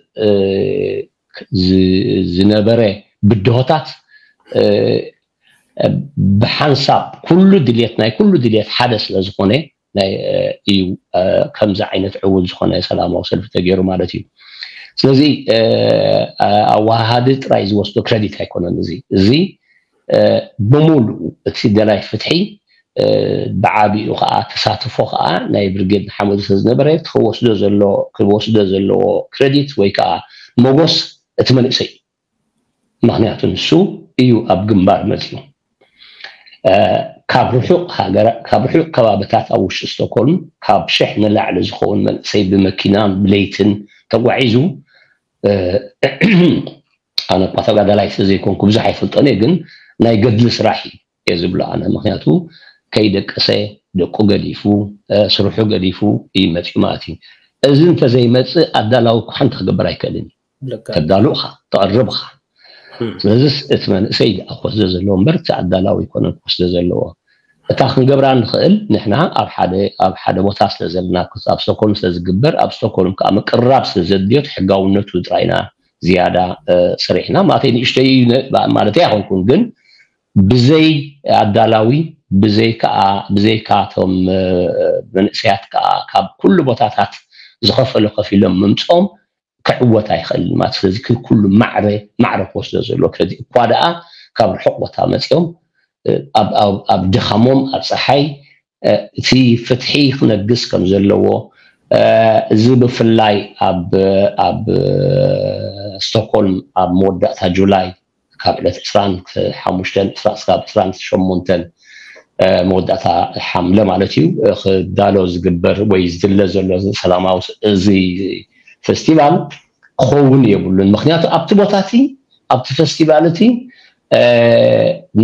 ዝነበረ ብድሆታት ብሓንሳብ ኩሉ ድልየት ናይ ኩሉ ድልየት ሓደ ስለዝኾነ ናይ እዩ ከምዚ ዓይነት ዕውት ዝኾነ ሰላማዊ ሰልፊ ተገይሩ ማለት እዩ። ስለዚ ኣወሃሃዲ ጥራይ ዝወስዶ ክረዲት ኣይኮነን። እዚ እዚ ብምሉኡ እቲ ደላይ ፍትሒ ብዓቢኡ ከዓ ተሳትፎ ከዓ ናይ ብርጌድ ንሓመዱ ስለዝነበረ ክወስዶ ዘሎ ክወስዶ ዘለዎ ክረዲት ወይ ከዓ መጎስ እቲ መንእሰይ እዩ። ምክንያቱ ንሱ እዩ ኣብ ግንባር መፅዩ። ካብ ርሑቕ ሃገራ ካብ ርሑቕ ከባብታት ኣብ ውሽጢ ስቶኮልም ካብ ሽሕ ንላዕሊ ዝኸውን መንእሰይ ብመኪናን ብለይትን ተጓዒዙ ኣነ እኳ ተጋዳላይ ስለዘይኮንኩ ብዙሕ ኣይፈልጦን እየ፣ ግን ናይ ገድሊ ስራሕ እዩ እየ ዝብሎ ኣነ። ምክንያቱ ከይደቀሰ ደቁ ገዲፉ ስርሑ ገዲፉ እዩ መፅዩ ማለት እዩ። እዚ እንተዘይመፅእ ኣዳላዊ እኳ ሓንቲ ክገብር ኣይክእልን እዩ። ተዳሉ ኢኻ ተቕርብ ኢኻ። ስለዚስ እቲ መንእሰይ ክወስዶ ዘለዎ እምበር እቲ ኣዳላዊ ኣይኮነን ክወስዶ ዘለዎ። እታ ክንገብራ ንኽእል ንሕና ኣብ ሓደ ኣብ ሓደ ቦታ ስለ ዘለና ኣብ ስቶኮልም ስለ ዝግበር ኣብ ስቶኮልም ከዓ ምቅርራብ ስለ ዘድልዮ እቲ ሕጋውነቱ ጥራይ ኢና ዝያዳ ሰሪሕና ማለት ንእሽተይ ማለተይ ኣይኮንኩን ግን ብዘይ ኣዳላዊ ብዘይ ከዓ ብዘይ ካቶም መንእሰያት ከዓ ካብ ኩሉ ቦታታት ዝኸፈሉ ከፊሎም ምምፅኦም ክዕወት ኣይኽእልን ማለት ስለዚ ኩሉ ማዕረ ማዕረ ክወስዶ ዘሎ ክረዲ እኳ ደኣ ካብ ርሑቕ ቦታ መፅኦም ኣብ ድኻሞም ኣብ ፀሓይ እቲ ፍትሒ ክነግስ ከም ዘለዎ እዚ ብፍላይ ኣብ ኣብ ስቶክሆልም ኣብ መወዳእታ ጁላይ ካብ ዕለት ዕስራን ሓሙሽተን ክሳብ ዕስራን ሸሞንተን መወዳእታ ሓምለ ማለት እዩ ክዳሎ ዝግበር ወይ ዝድለ ዘሎ ሰላማዊ እዚ ፌስቲቫል ክኸውን የብሉን። ምክንያቱ ኣብቲ ቦታ እቲ ኣብቲ ፌስቲቫል እቲ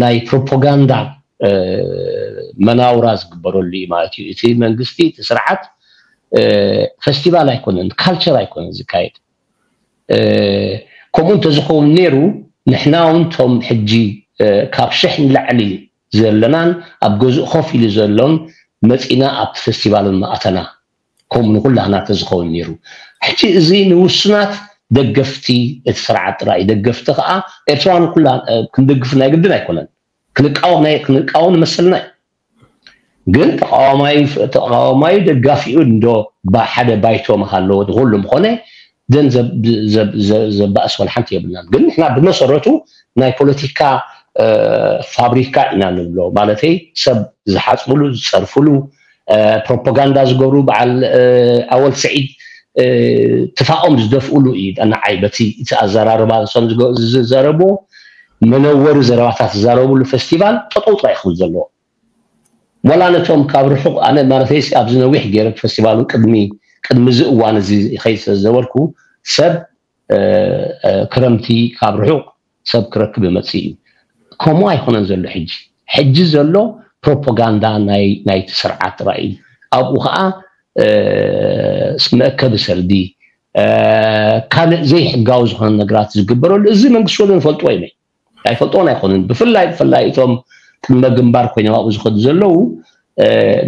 ናይ ፕሮፓጋንዳ መናውራ ዝግበረሉ እዩ ማለት እዩ። እቲ መንግስቲ እቲ ስርዓት ፌስቲቫል ኣይኮነን፣ ካልቸር ኣይኮነን ዝካየድ። ከምኡ እንተዝኸውን ነይሩ ንሕና እውን ቶም ሕጂ ካብ ሽሕ ንላዕሊ ዘለናን ኣብ ገዝኡ ኮፍ ኢሉ ዘሎን መፂና ኣብቲ ፌስቲቫል ምኣተና። ከምኡ ንኩላህና ተዝኸውን ነይሩ። ሕጂ እዚ ንውሱናት ደገፍቲ እቲ ስርዓት ጥራይ ደገፍቲ ከዓ ኤርትራውያን ኩላ ክንደግፍ ናይ ግድን ኣይኮነን። ክንቃወም ናይ ክንቃወም ንመሰልና እዩ። ግን ተቃዋማይ ተቃዋማይ ደጋፊኡ እንዶ ሓደ ባይቶ መሃለዎ ንኩሉ ምኾነ ዘን ዘባእስ ወላ ሓንቲ የብልናን። ግን ንሕና ብመሰረቱ ናይ ፖለቲካ ፋብሪካ ኢና ንብሎ። ማለተይ ሰብ ዝሓፅብሉ ዝፀርፍሉ ፕሮፓጋንዳ ዝገብሩ በዓል ኣወል ስዒድ ትፋኦም ዝደፍኡሉ እዩ። ንዓይ በቲ እቲ ኣዘራርባ ንሶም ዝዘረብዎ መነወሪ ዘረባታት ዝዛረብሉ ፌስቲቫል ጠጠው ጥራይ ክብል ዘለዎ። ዋላ ነቶም ካብ ርሑቕ ኣነ ማለተይ ኣብዚ ነዊሕ ገይረ ፌስቲቫሉ ቅድሚ ቅድሚ እዚ እዋን እዚ ይኸይድ ስለ ዝነበርኩ ሰብ ክረምቲ ካብ ርሑቕ ሰብ ክረክብ ይመፅእ እዩ። ከምኡ ኣይኮነን ዘሎ ሕጂ። ሕጂ ዘሎ ፕሮፓጋንዳ ናይ ናይቲ ስርዓት ጥራይ እዩ። ኣብኡ ከዓ መእከቢ ሰልዲ ካልእ ዘይሕጋዊ ዝኾነ ነገራት ዝግበረሉ እዚ መንግስቲ ወገን ይፈልጥዎ እዩ። ኣይፈልጥዎን ኣይኮኑን። ብፍላይ ብፍላይ እቶም ቅድመ ግንባር ኮይኖም ኣብኡ ዝኸዱ ዘለዉ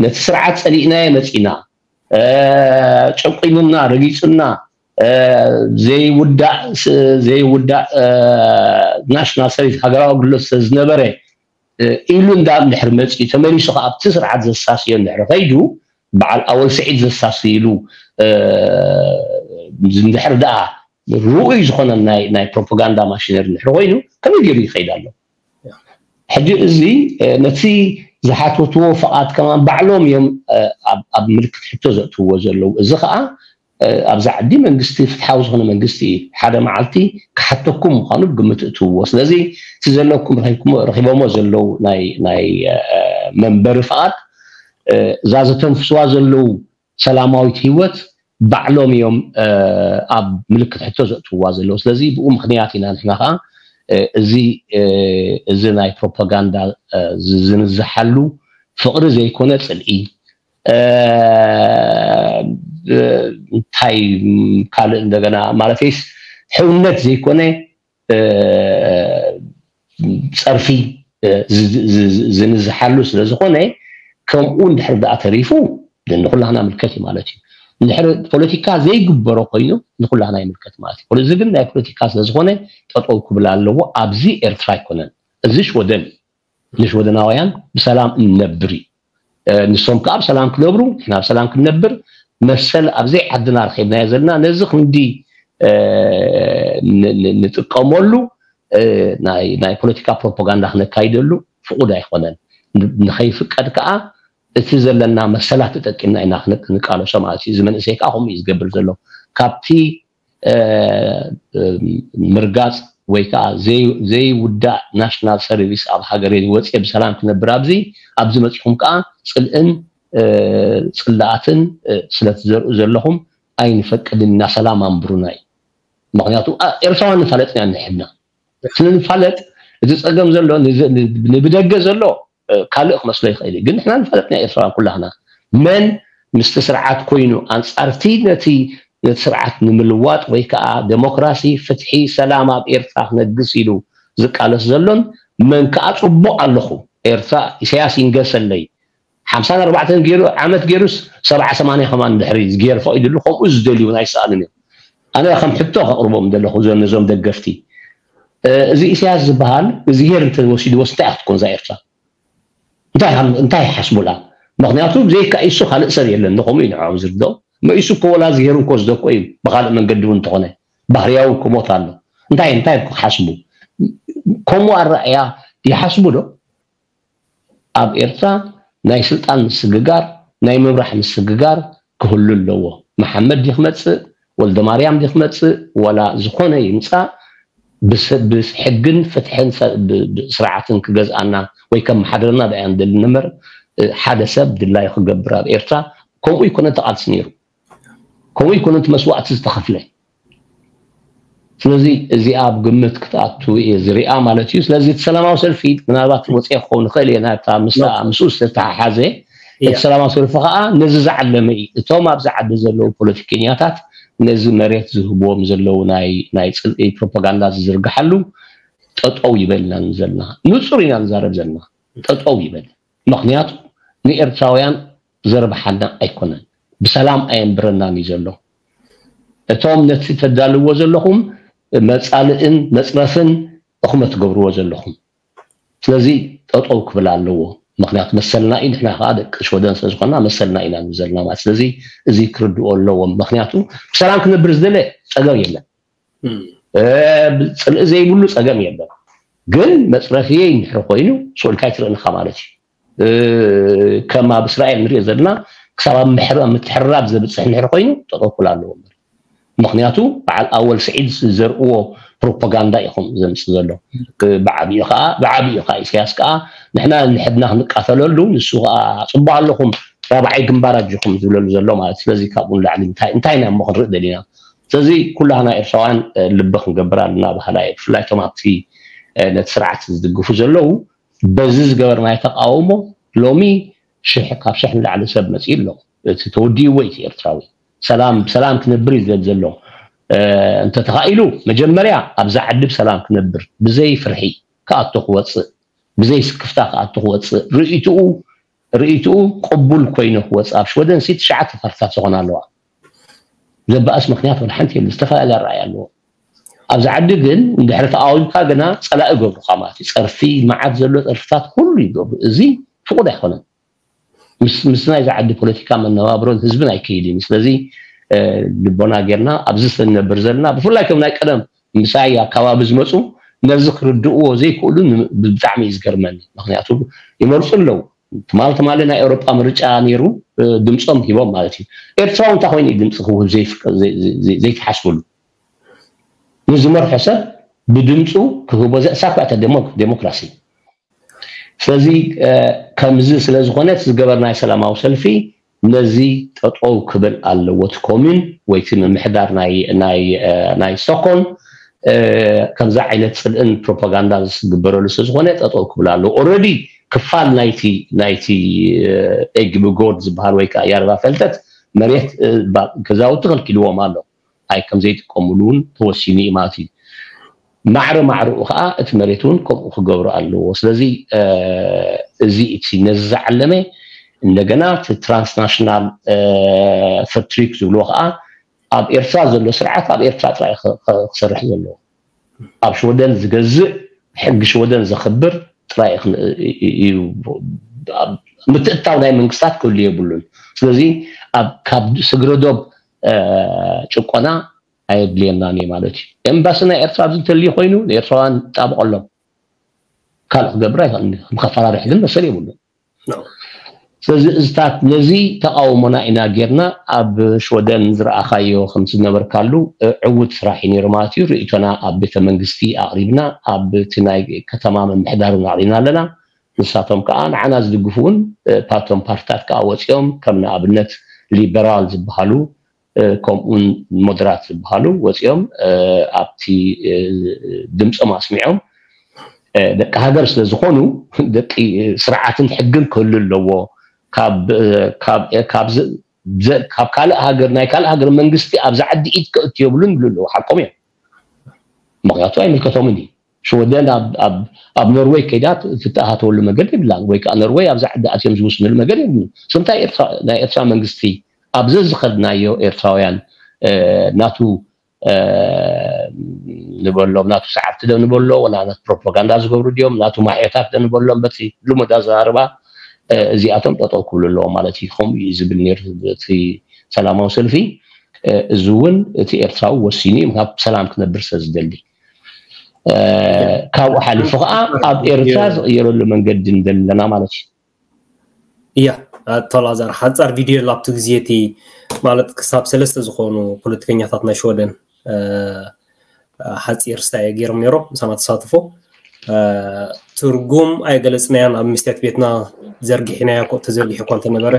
ነቲ ስርዓት ፀሊእናዮ መፂና ጨቂኑና ረጊፁና ዘይውዳእ ዘይውዳእ ናሽናል ሰርቪስ ሃገራዊ ኣገልግሎት ስለዝነበረ ኢሉ እንዳ እንድሕር መፂኡ ተመሊሱ ከዓ ኣብቲ ስርዓት ዘሳስዮ እንድሕር ከይዱ በዓል ኣወል ስዒድ ዘሳስይሉ እንድሕር ደኣ ርኡይ ዝኾነ ናይ ናይ ፕሮፓጋንዳ ማሽነሪ እንድሕር ኮይኑ ከመይ ገይሩ ይኸይድ ኣሎ? ሕጂ እዚ ነቲ ዝሓተትዎ ፍቓድ ከማን ባዕሎም እዮም ኣብ ምልክት ሕቶ ዘእትውዎ ዘለዉ። እዚ ከዓ ኣብዚ ዓዲ መንግስቲ ፍትሓዊ ዝኾነ መንግስቲ እዩ። ሓደ መዓልቲ ክሓተኩም ምዃኑ ብግምት እትውዎ። ስለዚ እቲ ዘለኩም ረኺቦሞ ዘለዉ ናይ ናይ መንበሪ ፍቓድ እዛ ዘተንፍስዋ ዘለዉ ሰላማዊት ህይወት ባዕሎም እዮም ኣብ ምልክት ሕቶ ዘእትውዋ ዘለዉ። ስለዚ ብኡ ምክንያት ኢና ንሕና ከዓ እዚ እዚ ናይ ፕሮፓጋንዳ ዝንዝሓሉ ፍቕሪ ዘይኮነ ፅልኢ እንታይ ካልእ እንደገና ማለተይስ ሕውነት ዘይኮነ ፀርፊ ዝንዝሓሉ ስለዝኾነ ከምኡ እንድሕር ደኣ ተሪፉ ንኩላህና ምልከት እዩ ማለት እዩ። እንድሕር ፖለቲካ ዘይግበሮ ኮይኑ ንኩላህና ይምልከት ማለት እዩ። እዚ ግን ናይ ፖለቲካ ስለዝኾነ ጠጠው ክብል ኣለዎ። ኣብዚ ኤርትራ ኣይኮነን፣ እዚ ሽወደን እዩ። ንሽወደናውያን ብሰላም እንነብር እዩ። ንሶም ከዓ ብሰላም ክነብሩ፣ ንሕና ብሰላም ክንነብር መሰል ኣብዘይ ዓድና ረኺብናዮ ዘለና ነዚ ክንዲ ንጥቀመሉ ናይ ፖለቲካ ፕሮፓጋንዳ ክነካይደሉ ፍቑድ ኣይኮነን። ንኸይፍቀድ ከዓ እቲ ዘለና መሰላት ተጠቂምና ኢና ንቃለሶ ማለት እዩ። እዚ መንእሰይ ከዓ ከምኡ እዩ ዝገብር ዘሎ። ካብቲ ምርጋፅ ወይ ከዓ ዘይውዳእ ናሽናል ሰርቪስ ኣብ ሃገረይ ወፅየ ብሰላም ክነብር ኣብዚ ኣብዚ መፂኹም ከዓ ፅልእን ፅላኣትን ስለትዘርኡ ዘለኹም ኣይንፈቅድን ኢና፣ ሰላም ኣንብሩና እዩ። ምክንያቱ ኤርትራውያን ንፋለጥና ንሕድና ስለንፋለጥ እቲ ፀገም ዘሎ ንብደገ ዘሎ ካልእ ክመስሎ ይኽእል እዩ፣ ግን ንሕና ንፋለጥና ኤርትራውያን ኩላህና መን ምስቲ ስርዓት ኮይኑ ኣንፃርቲ ነቲ ነቲ ስርዓት ንምልዋጥ ወይ ከዓ ዴሞክራሲ፣ ፍትሒ፣ ሰላም ኣብ ኤርትራ ክነግስ ኢሉ ዝቃለስ ዘሎን መን ከዓ ፅቡቕ ኣለኹ ኤርትራ ኢሳያስ ይንገሰለይ ሓምሳን ኣርባዕተን ገይሩ ዓመት ገይሩስ ሰብዓ ሰማንያ ከማን ድሕሪ ዝገይር ፈቒድሉ ከምኡ ዝደልዩ እውን ኣይሰኣኑን እዮም። ኣነ ከም ሕቶ ከቕርቦም ዘለኹ ነዞም ደገፍቲ እዚ ኢሳያስ ዝበሃል እዝሄር እንተወሲድዎስ እንታይ ክትኮን እዛ ኤርትራ? እንታይ ይሓስቡላ? ምክንያቱ ብዘይካ ኢሱ ካልእ ሰብ የለን። ንከምኡ እዩ ንዕኦም ዝርድኦም። መኢሱ እኮ ወላ እዝሄር እንኮ ዝደኮ እዩ ብካልእ መንገዲ እውን እንተኾነ ባህርያዊ ክሞት ኣሎ። እንታይ እንታይ ክሓስቡ ከምኡ ኣረኣያ ይሓስቡ ዶ? ኣብ ኤርትራ ናይ ስልጣን ምስግጋር ናይ ምምራሕ ምስግጋር ክህሉ ኣለዎ። መሓመድ ድዩ ክመፅእ ወልደማርያም ድዩ ክመፅእ ወላ ዝኾነ ይምፃእ ብሕግን ፍትሕን ስርዓትን ክገዝኣና ወይ ከመሓድረና ደኣ ንደሊ እምበር ሓደ ሰብ ድላዩ ክገብር ኣብ ኤርትራ ከምኡ ይኮነ ተቃልሲ ነይሩ። ከምኡ ይኮነ እቲ መስዋእቲ ዝተኸፍለ። ስለዚ እዚኣ ኣብ ግምት ክትኣቱ እየ ዝሪኣ ማለት እዩ። ስለዚ እቲ ሰላማዊ ሰልፊ ምናልባት ወፂአ ክኸውን ይኽእል እየ ናብታ ምስኡ ዝተተሓሓዘ እቲ ሰላማዊ ሰልፊ ከዓ ነዚ ዝዓለመ እዩ። እቶም ኣብዚ ዓዲ ዘለዉ ፖለቲከኛታት ነዚ መሬት ዝህብዎም ዘለዉ ናይ ናይ ፅልኢ ፕሮፓጋንዳ ዝዝርግሓሉ ጠጠው ይበልና ዘለና ንፁር ኢና ንዛረብ ዘለና ጠጠው ይበል። ምክንያቱ ንኤርትራውያን ዘርብሓና ኣይኮነን፣ ብሰላም ኣየንብረናን እዩ ዘሎ። እቶም ነቲ ተዳልዎ ዘለኹም መፃልእን መፅረፍን እኹመ ትገብርዎ ዘለኹም። ስለዚ ጠጠው ክብል ኣለዎ። ምክንያቱ መሰልና እዩ፣ ንሕና ከዓ ደቂ ሽወደን ስለዝኮና መሰልና ኢና ንብል ዘለና ማለት። ስለዚ እዚ ክርድኦ ኣለዎም። ምክንያቱ ብሰላም ክነብር ዝደለ ፀገም የለን። ፅልኢ ዘይብሉ ፀገም የለን። ግን መፅረፍየይ እንድሕር ኮይኑ ስኡልካ ይትርእንካ ማለት እዩ። ከም ኣብ እስራኤል ንሪኦ ዘለና ክሳብ ኣብ ምሕራብ ምትሕርራብ ዘብፅሕ እንድሕር ኮይኑ ጠጠው ክብል ኣለዎ። ምክንያቱ በዓል ኣወል ስዒድ ዝዘርእዎ ፕሮፓጋንዳ ኢኹም ዘምፅእ ዘሎ። ብዓብዩ ከዓ ብዓብዩ ከዓ ኢሳያስ ከዓ ንሕና ንሕድና ክንቃተለሉ ንሱ ከዓ ፅቡቅ ኣለኹም ራብዓይ ግንባር ኣጆኹም ዝብለሉ ዘሎ ማለት። ስለዚ ካብኡ ንላዕሊ እንታይ እንታይ ኢና እሞ ክንርኢ ደሊና? ስለዚ ኩላህና ኤርትራውያን ልቢ ክንገብር ኣለና በሃላይ እየ። ብፍላይ እቶም ኣብቲ ነቲ ስርዓት ዝድግፉ ዘለዉ በዚ ዝገበርናዮ ተቃውሞ ሎሚ ሽሕ ካብ ሽሕ ንላዕሊ ሰብ መፂኡ ኣሎ። እቲ ተወዲእዎ እቲ ኤርትራዊ ሰላም ብሰላም ክነብር እዩ ዝደሊ ዘሎ። እንተተኻኢሉ መጀመርያ ኣብዛ ዓዲ ብሰላም ክነብር ብዘይ ፍርሒ ክኣቶ ክወፅእ ብዘይ ስክፍታ ክኣቱ ክወፅእ ርእይትኡ ርእይትኡ ቅቡል ኮይኑ ክወፅእ ኣብ ሽወደን ሲ ትሽዓተ ፓርትታት ዝኾና ኣለዋ። ዘበኣስ ምክንያት ወላ ሓንቲ የለ ዝተፈላለየ ኣረኣያ ኣለዎ። ኣብዚ ዓዲ ግን እንድሕሪ ተቃዊምካ ግና ፀላኢ ገብሩካ ማለት እዩ። ፀርፊ መዓት ዘሎ ፀርፍታት ኩሉ ይገብሩ። እዚ ፍቁድ ኣይኮነን። ምስ ምስ ናይዚ ዓዲ ፖለቲካ መነባብሮን ህዝብን ኣይከይድን እዩ። ስለዚ ልቦና ጌርና ኣብዚ ስንነብር ዘለና ብፍላይ ከም ናይ ቀደም ምሳይ ኣካባቢ ዝመፁ ነዚ ክርድእዎ ዘይክእሉ ብጣዕሚ እዩ ዝገርመኒ። ምክንያቱ ይመርፁ ኣለዉ። ትማል ትማሊ ናይ ኤውሮጳ ምርጫ ነይሩ ድምፆም ሂቦም ማለት እዩ። ኤርትራዊ እንታይ ኮይኑ እዩ ድምፂ ክህብ ዘይትሓስብሉ? ንዝመርሖ ሰብ ብድምፁ ክህቦ ዘእሳኳ እተ ዴሞክራሲ ስለዚ ከምዚ ስለ ዝኾነ እቲ ዝገበርናዮ ሰላማዊ ሰልፊ ነዚ ጠጠው ክብል ኣለዎ። እቲ ኮሚን ወይ እቲ ምምሕዳር ናይ ስቶኮን ከምዚ ዓይነት ፅልእን ፕሮፓጋንዳን ዝግበረሉ ስለ ዝኾነ ጠጠው ክብል ኣለዎ። ኦረዲ ክፋል ናይቲ ናይቲ ኤግቢ ጎርድ ዝበሃል ወይ ከዓ ያርባ ፈልተት መሬት ገዛውቲ ከልኪልዎም ኣሎ። ኣይ ከም ዘይጥቀምሉ እውን ተወሲኑ እዩ ማለት እዩ። ማዕረ ማዕረኡ ከዓ እቲ መሬት እውን ከምኡ ክገብሩ ኣለዎ። ስለዚ እዚ እቲ ነዚ ዝዓለመ እንደገና እቲ ትራንስናሽናል ፈትሪክ ዝብልዎ ከዓ ኣብ ኤርትራ ዘሎ ስርዓት ኣብ ኤርትራ ጥራይ ክሰርሕ ዘለዎ፣ ኣብ ሽወደን ዝገዝእ፣ ሕጊ ሽወደን ዘኽብር ጥራይ እዩ። ምትእትታው ናይ መንግስታት ክህሉ የብሉን። ስለዚ ካብ ስግረ ዶብ ጭቆና ኣየድልየናን እዩ ማለት እዩ። ኤምባሲ ናይ ኤርትራ ኣብዚ እንተልዩ ኮይኑ ንኤርትራውያን ጣብቐሎም፣ ካልእ ክገብር ኣይኽእልን። ከም ከፈራርሕ ግን መሰል የብሉን። ስለዚ እዚታት ነዚ ተቃውሞና ኢና ጌርና ኣብ ሽወደን ዝረኣኻዮ ከም ዝነበርካሉ ዕውት ስራሕ እዩ ነይሩ ማለት እዩ። ርእይቶና ኣብ ቤተ መንግስቲ ኣቕሪብና ኣብ እቲ ናይ ከተማ ምምሕዳር እውን ኣቕሪብና ኣለና። ንሳቶም ከዓ ንዓና ዝድግፉ እውን ካብቶም ፓርትታት ከዓ ወፂኦም ከም ንኣብነት ሊበራል ዝበሃሉ ከምኡውን ሞደራት ዝበሃሉ ወፂኦም ኣብቲ ድምፆም ኣስሚዖም ደቂ ሃገር ስለ ዝኾኑ ደቂ ስርዓትን ሕግን ክህሉ ኣለዎ። ካብ ካልእ ሃገር ናይ ካልእ ሃገር መንግስቲ ኣብዚ ዓዲ ኢድ ከእቱ የብሉን ይብሉ ኣለዉ። ሓቆም እዮም። ምክንያቱ ኣይምልከቶምን እዩ። ሽወደን ኣብ ኖርወይ ከይዳ ትተኣታተወሉ መገዲ የብላን፣ ወይ ከዓ ኖርወይ ኣብዚ ዓዲ ኣትዮም ዝውስንሉ መገዲ የብሉን። ስለምንታይ ናይ ኤርትራ መንግስቲ ኣብዚ ዝኸድናዮ ኤርትራውያን ናቱ ንበሎም፣ ናቱ ሰዓብቲ ዶ ንበሎ፣ ወላ ናቱ ፕሮፓጋንዳ ዝገብሩ ድዮም፣ ናቱ ማሕዮታት ዶ ንበሎም፣ በቲ ልሙድ ኣዘራርባ እዚኣቶም ጠጠው ክብሉ ኣለዎም ማለት እዩ። ከምኡ እዩ ዝብል ነይሩ እቲ ሰላማዊ ሰልፊ። እዚ እውን እቲ ኤርትራዊ ወሲኑ እዩ፣ ካብ ሰላም ክነብር ስለ ዝደሊ። ካብኡ ሓሊፉ ከዓ ኣብ ኤርትራ ዝቕየረሉ መንገዲ ንደሊ ኣለና ማለት እዩ። እያ፣ ኣቶ ላዛር፣ ሓጻር ቪድዮ ኣብቲ ግዜ እቲ ማለት ክሳብ ሰለስተ ዝኾኑ ፖለቲከኛታት ናይ ሽወደን ሓጺር ስታይ ገይሮም ነይሮም፣ ምሳና ተሳትፎ። ትርጉም ኣይገለጽናያን፣ ኣብ መስትያት ቤትና ዘርጊሕናዮ እኮ፣ ተዘርጊሑ እኳ እንተነበረ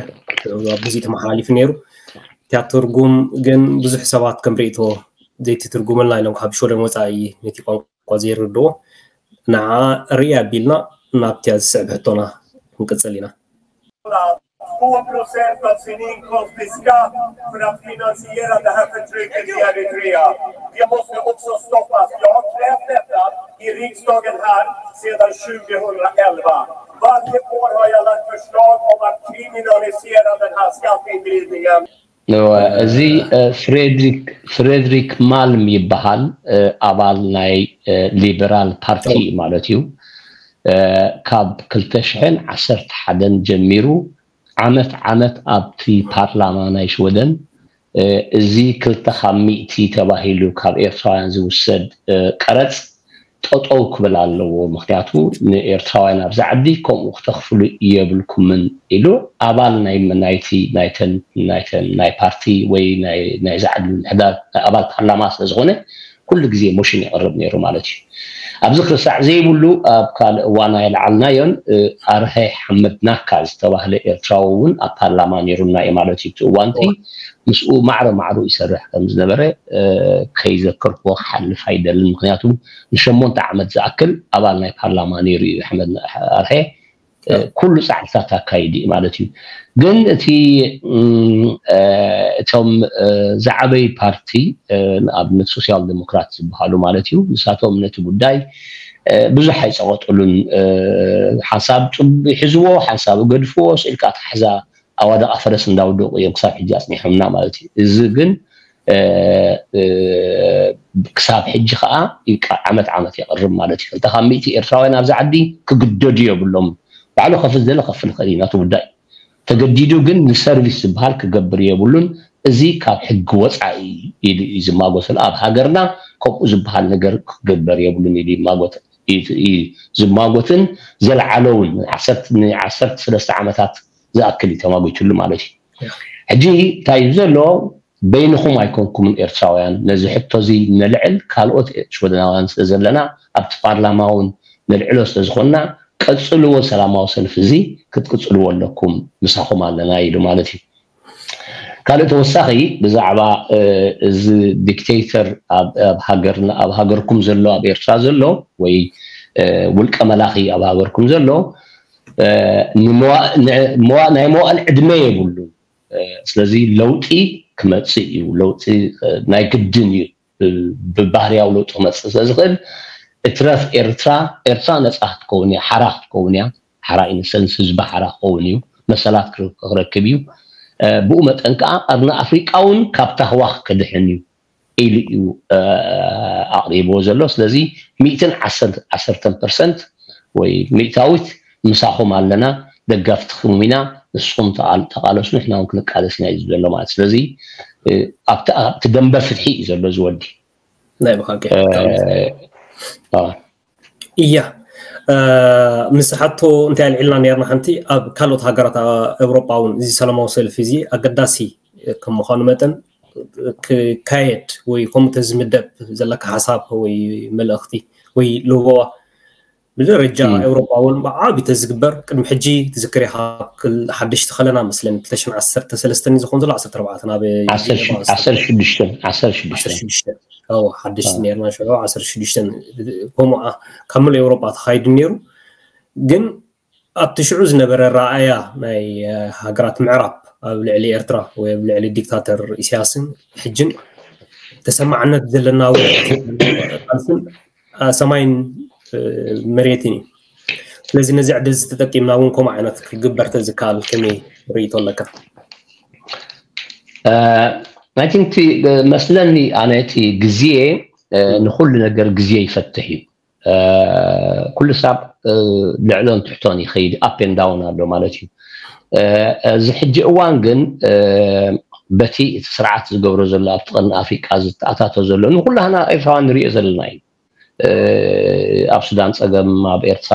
ብዙ ተመሓላሊፉ ነይሩ። እቲያ ትርጉም ግን ብዙሕ ሰባት ከም ርእይቶ ዘይትትርጉመልና ኢሎም ካብ ሽወደን ወጻኢ ነቲ ቋንቋ ዘይርድዎ ንዓ ርኢ ኣቢልና ናብቲያ ዝስዕብ ሕቶና ክንቅጽል ኢና። Två procent av sin inkomst i skatt för att finansiera det här förtrycket i Eritrea. Det måste också stoppas. Jag har krävt detta i riksdagen här sedan tjugohundraelva. Varje år har jag lagt förslag om att kriminalisera den här skatteindrivningen. እዚ ፍሬድሪክ ማልም ይበሃል። ኣባል ናይ ሊበራል ፓርቲ ማለት እዩ። ካብ ክልተ ሽሕን ዓሰርተ ሓደን ጀሚሩ ዓመት ዓመት ኣብቲ ፓርላማ ናይ ሽወደን እዚ ክልተ ካብ ሚእቲ ተባሂሉ ካብ ኤርትራውያን ዝውሰድ ቀረፅ ጠጠው ክብል ኣለዎ። ምክንያቱ ንኤርትራውያን ኣብዚ ዓዲ ከምኡ ክተኽፍሉ የብልኩምን ኢሉ ኣባል ናይ ናይቲ ናይተን ናይተን ናይ ፓርቲ ወይ ናይ ናይዚ ዓዲ ምምሕዳር ኣባል ፓርላማ ስለ ዝኾነ ኩሉ ግዜ ሞሽን የቕርብ ነይሩ ማለት እዩ። ኣብዚ ክርሳዕ ዘይብሉ ኣብ ካልእ እዋን ኣይለዓልናዮን ኣርሀ ሓመድ ናካ ዝተባህለ ኤርትራዊ እውን ኣብ ፓርላማ ነይሩና እዩ ማለት እዩ። እቲ እዋንቲ ምስኡ ማዕረ ማዕሩ ይሰርሕ ከም ዝነበረ ከይዘከርክዎ ክሓልፍ ኣይደልን። ምክንያቱ ንሸሞንተ ዓመት ዝኣክል ኣባል ናይ ፓርላማ ነይሩ እዩ ኣሕመድ ኣርሀ። ኩሉ ፃዕርታት ኣካይዱ እዩ ማለት እዩ። ግን እቲ እቶም ዝዓበዩ ፓርቲ ንኣብነት ሶሲያል ዴሞክራት ዝበሃሉ ማለት እዩ፣ ንሳቶም ነቲ ጉዳይ ብዙሕ ኣይፀቐጥሉን። ሓንሳብ ይሕዝዎ፣ ሓንሳብ ይገድፍዎ፣ ስኢልካ ኣትሓሕዛ ኣዋደቓ ፈረስ እንዳወደቑ እዮም ክሳብ ሕጂ ኣፅኒሖምና ማለት እዩ። እዚ ግን ክሳብ ሕጂ ከዓ ዓመት ዓመት የቕርብ ማለት እዩ። ክልተ ካብ ሚእቲ ኤርትራውያን ኣብዚ ዓዲ ክግደዱ የብሎም። ባዕሉ ከፍል ዝደለ ከፍል ይኽእል እዩ፣ ናቱ ጉዳይ። ተገዲዱ ግን ንሰርቪስ ዝበሃል ክገብር የብሉን። እዚ ካብ ሕጊ ወፃኢ ኢሉ እዩ ዝማጎተሉ። ኣብ ሃገርና ከምኡ ዝበሃል ነገር ክግበር የብሉን ኢሉ ይማጎት ዝማጎትን ዘለዓለውን ንዓሰርተ ሰለስተ ዓመታት ዝኣክል እዩ ተማጒትሉ ማለት እዩ። ሕጂ እንታይ እዩ ዘሎ? በይንኹም ኣይኮንኩምን ኤርትራውያን ነዚ ሕቶ እዚ ነልዕል፣ ካልኦት ሽወደናውያን ስለ ዘለና ኣብቲ ፓርላማ እውን ነልዕሎ ስለ ዝኾንና ቀጽልዎ፣ ሰላማዊ ሰልፊ እዚ ክትቅጽልዎ ኣለኩም፣ ምሳኹም ኣለና ኢሉ ማለት እዩ። ካልእ ተወሳኺ ብዛዕባ እዚ ዲክቴተር ኣብ ሃገርና ኣብ ሃገርኩም ዘሎ ኣብ ኤርትራ ዘሎ ወይ ውልቀ መላኺ ኣብ ሃገርኩም ዘሎ እ፣ ንመዋ- ን- መዋ- ናይ መዋእል ዕድመ የብሉን። እ፣ ስለዚ ለውጢ ክመጽእ እዩ። ለውጢ እ፣ ናይ ግድን እዩ። እ፣ ብባህርያዊ ለውጢ ክመጽእ ስለ ዝኽእል እትረፍ ኤርትራ፣ ኤርትራ ነጻ ክትከውን እያ፣ ሓራ ክትከውን እያ። ሓራ ኢንሰንስ ህዝቢ ሓራ ክኸውን እዩ፣ መሰላት ክረ- ክረክብ እዩ። እ፣ ብኡ መጠን ከዓ ቀርኒ ኣፍሪቃ እውን ካብ ታህዋኽ ክድሕን እዩ ኢሉ እዩ እ፣ ኣቕሪብዎ ዘሎ። ስለዚ ሚእትን ዓሰርተን ፐርሰንት ወይ ሚእታዊት ምሳኹም ኣለና፣ ደገፍትኹም ኢና፣ ንስኹም ተቓል- ተቓለሱ፣ ንሕና እውን ክንቃለስ ኢና እዩ ዘሎ ማለት። ስለዚ እ፣ ኣብቲ ኣብቲ ደንበ ፍትሒ እዩ ዘሎ እዚ ወዲ። ናይ ብሓቂ እ፣ አ፣ እያ። እ፣ ምስ ሓቶ እንታይ ኣልዒልና ነርና ሓንቲ ኣብ ካልኦት ሃገራት እ፣ ኤውሮጳ እውን እዚ ሰላማዊ ሰልፊ እዚ ኣገዳሲ ከም ምዃኑ መጠን ክካየድ ወይ ከምኡ ተዝምደብ ዘለካ ሓሳብ ወይ መልእኽቲ ወይ ልቦዋ ብደረጃ እም። ኤውሮጳ እውን ብዓቢ ተዝግበር ቅድሚ ሕጂ ትዝክር ኢኻ ክል ሓደሽቲ ከለና መስለኒ ክልተ ሽሕን ዓሰርተ ሰለስተን ዝኾን ዘሎ ዓሰርተ ኣርባዕተ ናብ ዓሰርተ ሽዱሽተ ዓሰርተ ሽዱሽተ ዓሰርተ ሽዱሽተ ሓደሽቲ ነርና ሽዑ ዓሰርተ ሽዱሽተ ከምኡ ካብ ምሉእ ኤውሮጳ ተኻይዱ ነይሩ። ግን ኣብቲ ሽዑ ዝነበረ ረኣያ ናይ እ፣ ሃገራት ምዕራብ ኣብ ልዕሊ ኤርትራ ወይ ኣብ ልዕሊ ዲክታተር ኢሳያስን ሕጅን ተሰማዕነት ዘለና እውን ቃልስን እ፣ ሰማይን እ፣ መሬትን እዩ። ስለዚ ነዚ ዕድል እዚ ተጠቂምና እውን ከምኡ ዓይነት ክግበር ተዝከኣል ከመይ ርእይቶ ኣለካ? I think እቲ መስለኒ ኣነ እቲ ግዜ እ፣ ንኩሉ ነገር ግዜ ይፈትሕ እዩ። እ፣ ኩሉ ሳብ እ፣ ልዕሎን ትሕቶን ይኸይድ፣ ኣፕ ኤንድ ዳውን ኣሎ ማለት እዩ። እ፣ እዚ ሕጂ እዋን ግን እ፣ በቲ እቲ ስርዓት ዝገብሮ ዘሎ ኣብቲ ቀርኒ ኣፍሪቃ ዝተኣታቶ ዘሎ ንኩላህና ኤርትራውያን ንሪኦ ዘለና እዩ። እ፣ ኣብ ሱዳን ጸገም፣ ኣብ ኤርትራ፣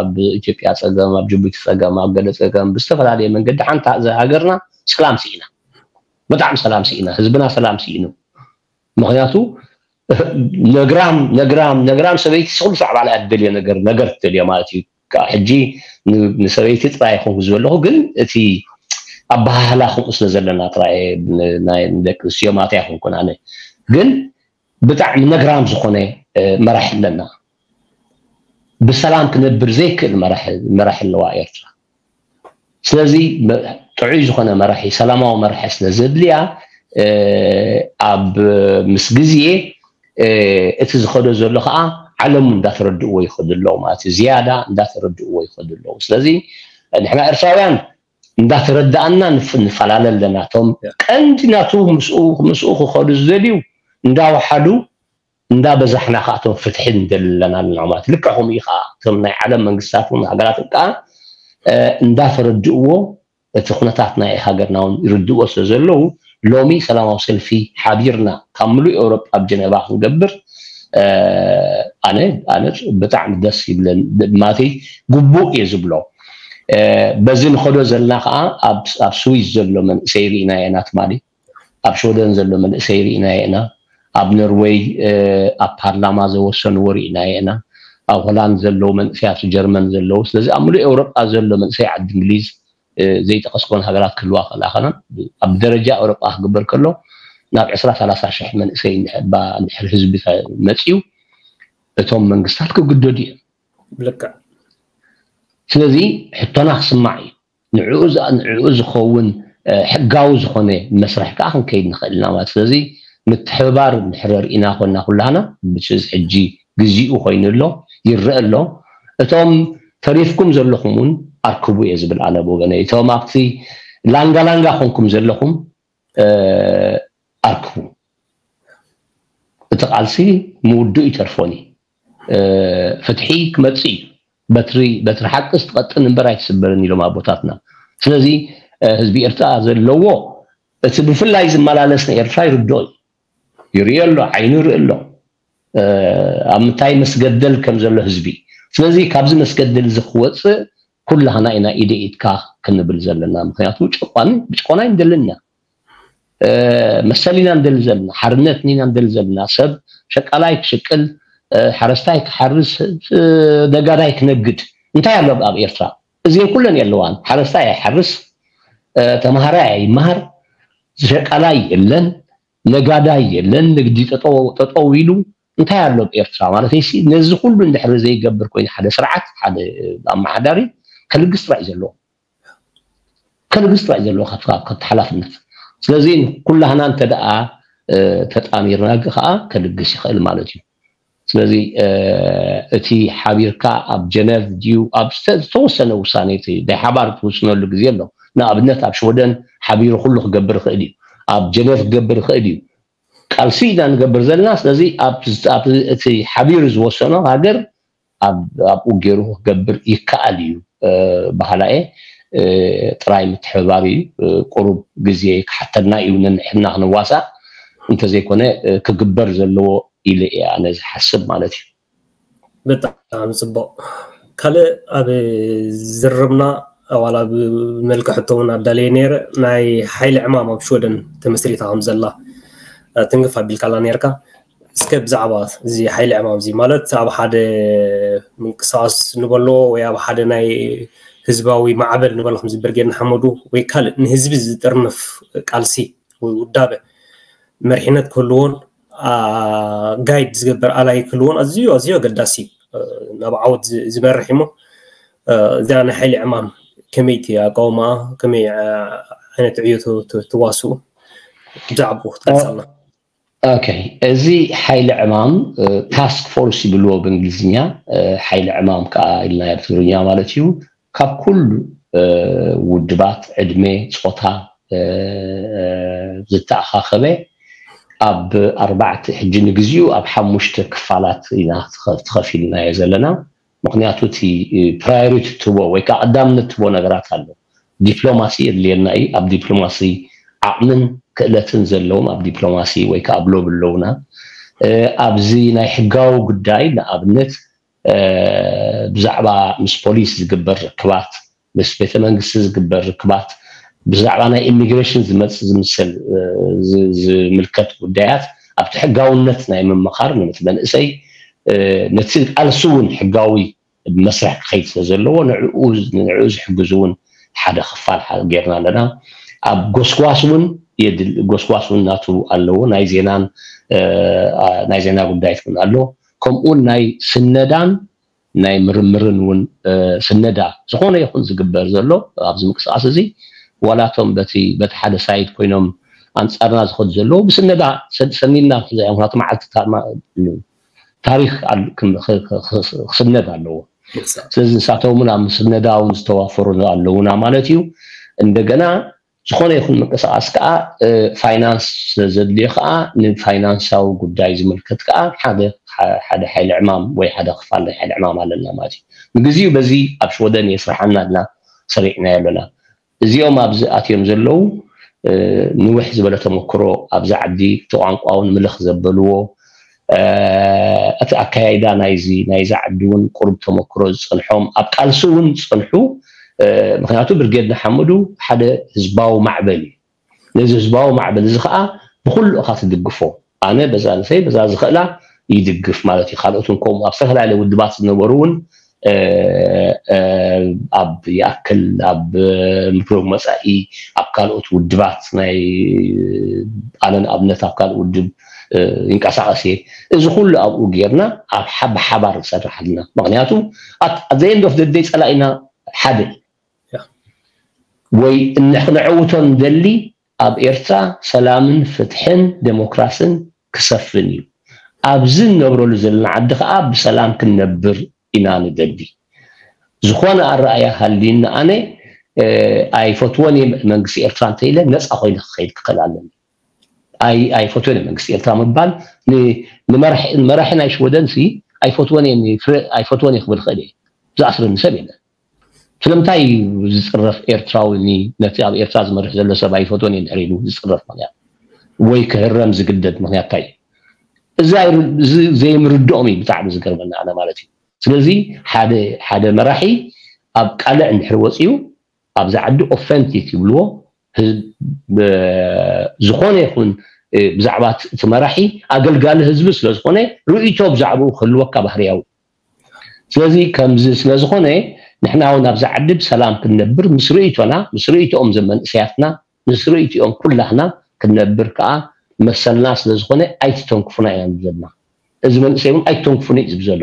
ኣብ ኢትዮጵያ ጸገም፣ ኣብ ጅቡቲ ጸገም፣ ኣብ ገለ ጸገም ብዝተፈላለየ መንገዲ ሓንቲ ሃገርና ሰላም ስኢና፣ ብጣዕሚ ሰላም ስኢና፣ ህዝብና ሰላም ስኢኑ። ምክንያቱ ነግራም ነግራም ነግራም ሰበይቲ ስኹሉ ሳዕ ባላ እያ ትደልዮ ነገር ነገር ትደልዮ ማለት እዩ። ከዓ ሕጂ ን- ንሰበይቲ ጥራይ ይኹን ዝበለኹ ግን እቲ ኣበሃህላ ከምኡ ስለ ዘለና ጥራይ ን- ናይ ንደቂ ኣንስትዮ ማለት ኣይኮንኩን ኣነ ግን ብጣዕሚ ነግራም ዝኾነ እ፣ መራሒ ኣለና። ብሰላም ክነብር ዘይክእል መራሒ መራሒ ኣለዋ ኤርትራ። ስለዚ መ- ጥዑይ ዝኾነ መራሒ ሰላማዊ መራሒ ስለ ዘድልያ እ፣ ኣብ ምስ ግዜ እ፣ እቲ ዝኸዶ ዘሎ ከዓ ዓለሙ እንዳተረድእዎ ይኸዱ ኣለዉ ማለት እዩ። ዝያዳ እንዳተረድእዎ ይኸዱ ኣለዉ። ስለዚ ንሕና ኤርትራውያን እንዳተረዳእና ንፍ- ንፈላለ ኣለና። እቶም ቀንዲ ናቱ ምስኡ ምስኡ ክኸዱ ዝደልዩ እንዳወሓዱ እንዳበዛሕና ከዓ እቶም ፍትሒ ንደሊ ኣለና ኣለና ማለት ልክዕ ከምኡ እዩ ከዓ እቶም ናይ ዓለም መንግስታት እውን ሃገራት ከዓ እ፣ እንዳተረድእዎ እቲ ኩነታት ናይ ሃገርና እውን ይርድእዎ ስለ ዘለዉ ሎሚ ሰላማዊ ሰልፊ ሓቢርና ካብ ምሉእ ኤውሮጳ ኣብ ጀነቫ ክንገብር እ፣ ኣነ ኣነ ብጣዕሚ ደስ ይብለን ማለተይ ግቡእ እየ ዝብሎ እ፣ በዚ ንኸዶ ዘለና ከዓ ኣብ ኣብ ስዊዝ ዘሎ መንእሰይ ርኢናዮ ኢና ትማሊ ኣብ ሽወደን ዘሎ መንእሰይ ርኢናዮ ኢና ኣብ ኖርወይ እ፣ ኣብ ፓርላማ ዘወሰንዎ ርኢናዮ ኢና ኣብ ሆላንድ ዘለዉ መንእሰያት ጀርመን ዘለዉ ስለዚ ኣብ ምሉእ ኤውሮጳ ዘሎ መንእሰይ ዓዲ እንግሊዝ እ፣ ዘይጠቀስኮን ሃገራት ክህልዋ ክእላ ከና ኣብ ደረጃ ኤውሮጳ ክግበር ከሎ ናብ ዕስራ ሰላሳ ሽሕ መንእሰይ እንድሕር ባ- እንድሕር ህዝቢ ተ- መፅዩ እቶም መንግስታት ክግደዱ እዮም። ብልክዕ ስለዚ ሕቶና ክስማዕ እዩ። ንዕኡ ዝኣ- ንዕኡ ዝኸውን እ፣ ሕጋዊ ዝኾነ መስርሕ ከዓ ክንከይድ ንኽእል ኢና ማለት ስለዚ ምትሕብባር እንድሕር ርኢና ኮና ኩላህና ብስዚ ሕጂ ግዜኡ ኮይኑ ኣሎ ይረአ ኣሎ። እቶም ተሪፍኩም ዘለኹም እውን ኣርክቡ እየ ዝብል ኣነ ብወገነይ። እቶም ኣብቲ ላንጋ ላንጋ ኮንኩም ዘለኹም እ፣ ኣርክቡ። እቲ ቃልሲ ምውድኡ ይተርፎን እዩ። እ፣ ፍትሒ ክመጽእ እዩ። በትሪ በትሪ ሓቅስ ትቐጥን እምበር ኣይትስበርን ኢሎም ኣቦታትና። ስለዚ እ፣ ህዝቢ ኤርትራ ዘለዎ እቲ ብፍላይ ዝመላለስ ንኤርትራ ይርድኦ እዩ። ይርእዮ ኣሎ፣ ዓይኑ ይርኢ ኣሎ። እ፣ ኣብ ምንታይ መስገደል ከም ዘሎ ህዝቢ። ስለዚ ካብዚ መስገደል እዚ ክወፅእ ኩላህና ኢና ኢደ ኢድካ ክንብል ዘለና። ምክንያቱ ጨቋኒ ብጭቆና ይንደልን ኢና። እ፣ መሰል ኢና ንደሊ ዘለና፣ ሓርነት ኢና ንደሊ ዘለና። ሰብ ሸቃላይ ክሽቅል፣ እ፣ ሓረስታይ ክሓርስ፣ እ፣ ነጋዳይ ክነግድ እንታይ ኣሎ ኣብ ኤርትራ? እዚን ኩለን የለዋን። ሓረስታይ ኣይሓርስ፣ እ፣ ተምሃራይ ኣይመሃር፣ ሸቃላይ የለን፣ ነጋዳይ የለን፣ ንግዲ ጠጠው ጠጠው ኢሉ እንታይ ኣሎ ኣብ ኤርትራ ማለት ሲ ነዚ ኩሉ እንድሕር ዘይገብር ኮይኑ ሓደ ስርዓት ሓደ ኣመሓዳሪ ከልግስ ጥራይ እዩ ዘለዎ። ከልግስ ጥራይ እዩ ዘለዎ ካብቲ ሓላፍነት። ስለዚ ኩላህና እንተ ደኣ ተጣሚርና ከዓ ከልግስ ይኽእል ማለት እዩ። ስለዚ እቲ ሓቢርካ ኣብ ጀነቭ ድዩ ኣብ ዝተወሰነ ውሳኔ ናይ ሓባር ትውስነሉ ግዜ ኣሎ። ንኣብነት ኣብ ሽወደን ሓቢሩ ኩሉ ክገብር ይኽእል እዩ። ኣብ ጀነቭ ክገብር ይኽእል እዩ። ቃልሲ ኢና ንገብር ዘለና። ስለዚ እቲ ሓቢሩ ዝወሰኖ ሃገር ኣብኡ ገይሩ ክገብር ይከኣል እዩ። ባህላኤ ጥራይ ምትሕብባር እዩ። ቁሩብ ግዜ ክሓተና እዩ ነንሕድና ክንዋሳእ እንተዘይኮነ ክግበር ዘለዎ ኢለ እየ ኣነ ዝሓስብ ማለት እዩ። ብጣዕሚ ፅቡቕ። ካልእ ኣብ ዝርርብና ዋላ ብመልክዕ ሕቶ እውን ኣዳለየ ነይረ። ናይ ሓይሊ ዕማም ኣብ ሽወደን ተመስሪታ ከም ዘላ ትንክፍ ኣቢልካላ ነርካ። እስከ ብዛዕባ እዚ ሓይሊ ዕማም እዚ ማለት ኣብ ሓደ ምንቅስቃስ ንበሎ ወይ ኣብ ሓደ ናይ ህዝባዊ ማዕበል ንበሎ ከምዚ ብርጌድ ንሓመዱ ወይ ካልእ ንህዝቢ ዝጥርንፍ ቃልሲ ወይ ውዳበ መሪሕነት ክህልዎን ጋይድ ዝገብር ኣላይ ክህልዎን ኣዝዩ ኣዝዩ ኣገዳሲ እዩ። ናብ ዓወት ዝመርሕ እሞ እዚኣ ናይ ሓይሊ ዕማም ከመይቲ ኣቃውማ ከመይ ዓይነት ዕዮ ትዋስኡ ብዛዕባኡ ክትገልፀልና። ኦኬ፣ እዚ ሓይሊ ዕማም ታስክ ፎርስ ይብልዎ ብእንግሊዝኛ፣ ሓይሊ ዕማም ከዓ ኢልና ብትግርኛ ማለት እዩ። ካብ ኩሉ ውድባት፣ ዕድመ፣ ፆታ ዝተኣኻኸበ ኣብ ኣርባዕተ ሕጂ ንግዚኡ ኣብ ሓሙሽተ ክፋላት ኢና ተኸፊልናዮ ዘለና። ምክንያቱ እቲ ፕራዮሪቲ ትቦ ወይ ከዓ ቀዳምነት ትቦ ነገራት ኣሎ። ዲፕሎማሲ የድልየና እዩ። ኣብ ዲፕሎማሲ ዓቕምን ክእለትን ዘለዎም ኣብ ዲፕሎማሲ ወይ ከዓ ኣብ ሎቢ ኣለውና። ኣብዚ ናይ ሕጋዊ ጉዳይ ንኣብነት ብዛዕባ ምስ ፖሊስ ዝግበር ርክባት፣ ምስ ቤተ መንግስቲ ዝግበር ርክባት፣ ብዛዕባ ናይ ኢሚግሬሽን ዝመፅእ ዝምሰል ዝምልከት ጉዳያት ኣብቲ ሕጋውነት ናይ ምምኻር፣ ነቲ መንእሰይ ነቲ ቃልሲ እውን ሕጋዊ መስርሕ ክኸይድ ስለ ዘለዎ ንዕኡ ዝሕግዝ እውን ሓደ ክፋል ጌርና ኣለና። ኣብ ጎስጓስ እውን ጎስጓስ እውን ናቱ ኣለዎ። ናይ ዜናን ናይ ዜና ጉዳይት እውን ኣሎ። ከምኡውን ናይ ስነዳን ናይ ምርምርን እውን ስነዳ ዝኾነ ይኹን ዝግበር ዘሎ ኣብዚ ምንቅስቃስ እዚ ዋላቶም በቲ በቲ ሓደ ሳይድ ኮይኖም ኣንፃርና ዝኸዱ ዘለዉ ብስነዳ ሰኒድና ምክንያቱ መዓልቲ ታሪክ ክስነድ ኣለዎ። ስለዚ ንሳቶም እውን ኣብ ምስነዳ እውን ዝተዋፈሩ ኣለውና ማለት እዩ። እንደገና ዝኾነ ይኹን ምንቅስቃስ ከዓ ፋይናንስ ስለዘድልዮ ከዓ ንፋይናንሳዊ ጉዳይ ዝምልከት ከዓ ሓደ ሓደ ሓይሊ ዕማም ወይ ሓደ ክፋል ናይ ሓይሊ ዕማም ኣለና ማለት እዩ። ንግዚኡ በዚ ኣብ ሽወደን የስርሓና ኣልና ሰሪዕናዮ ኣለና። እዚኦም ኣብዚ ኣትዮም ዘለዉ ንውሕ ዝበለ ተመክሮ ኣብዚ ዓዲ እቲ ቋንቋ እውን ምልኽ ዘበልዎ እቲ ኣካያይዳ ናይዚ ናይዚ ዓዲ እውን ቁሩብ ተመክሮ ዝፀንሖም ኣብ ቃልሲ እውን ዝፀንሑ ምክንያቱ ብርጌድ ንሓመዱ ሓደ ህዝባዊ ማዕበል እዩ። ነዚ ህዝባዊ ማዕበል እዚ ከዓ ብኩሉ እካ ትድግፎ ኣነ በዛ ንሰይ በዛ ዝኽእላ ይድግፍ ማለት እዩ። ካልኦት እውን ከምኡ ኣብ ዝተፈላለየ ውድባት ዝነበሩ እውን ኣብ ይኣክል ኣብ ምክሮም መፃኢ ኣብ ካልኦት ውድባት ናይ ኣነ ንኣብነት ኣብ ካልእ ውድብ ይንቀሳቀስ እየ። እዚ ኩሉ ኣብኡ ጌርና ኣብ ብሓባር ንሰርሕ ኣለና። ምክንያቱ ኣዘየንዶፍ ደደይ ፀላኢና ሓደ ወይ ክነዕውቶ ንደሊ ኣብ ኤርትራ ሰላምን ፍትሕን ዴሞክራስን ክሰፍን እዩ። ኣብዚ እንነብረሉ ዘለና ዓዲ ከዓ ብሰላም ክንነብር ኢና ንደሊ። ዝኾነ ኣረኣያ ሃልዩኒ ኣነ ኣይፈትዎን እየ መንግስቲ ኤርትራ እንተኢለ ነፃ ኮይነ ክኸይድ ክኽእል ኣለኒ። ኣይፈትዎን እየ መንግስቲ ኤርትራ ምባል ንመራሒ ናይ ሽወደን ሲ ኣይፈትዎን እየ ክብል ክእል እየ። ዝኣስረኒ ሰብ የለን። ስለምንታይ እዩ ዝፅረፍ ኤርትራዊ ነቲ ኣብ ኤርትራ ዝመርሕ ዘሎ ሰብ ኣይፈትዎን እየ እንድሕር ኢሉ ዝፅረፍ ምክንያት ወይ ክህረም ዝግደድ ምክንያት እንታይ እዩ? እዚ ዘይምርድኦም እዩ ብጣዕሚ ዝገርመና ኣነ ማለት እዩ። ስለዚ ሓደ ሓደ መራሒ ኣብ ቃልዕ እንድሕር ወፅዩ ኣብዚ ዓዲ ኦፈንቲክ ይብልዎ ዝኾነ ይኹን ብዛዕባ እቲ መራሒ ኣገልጋሊ ህዝቢ ስለዝኾነ ርእይቶ ብዛዕባኡ ክህልወካ ባህርያዊ። ስለዚ ከምዚ ስለዝኾነ ንሕና እውን ኣብዚ ዓዲ ብሰላም ክንነብር ምስ ርእይቶና ምስ ርእይቶኦም ዘመንእሰያትና ምስ ርእይቶኦም ኩላህና ክንነብር ከዓ መሰልና ስለዝኾነ ኣይትተንክፉና ኢና ንብል ዘለና። እዚ መንእሰይ እውን ኣይትተንክፉኒ እዩ ዝብል ዘሎ።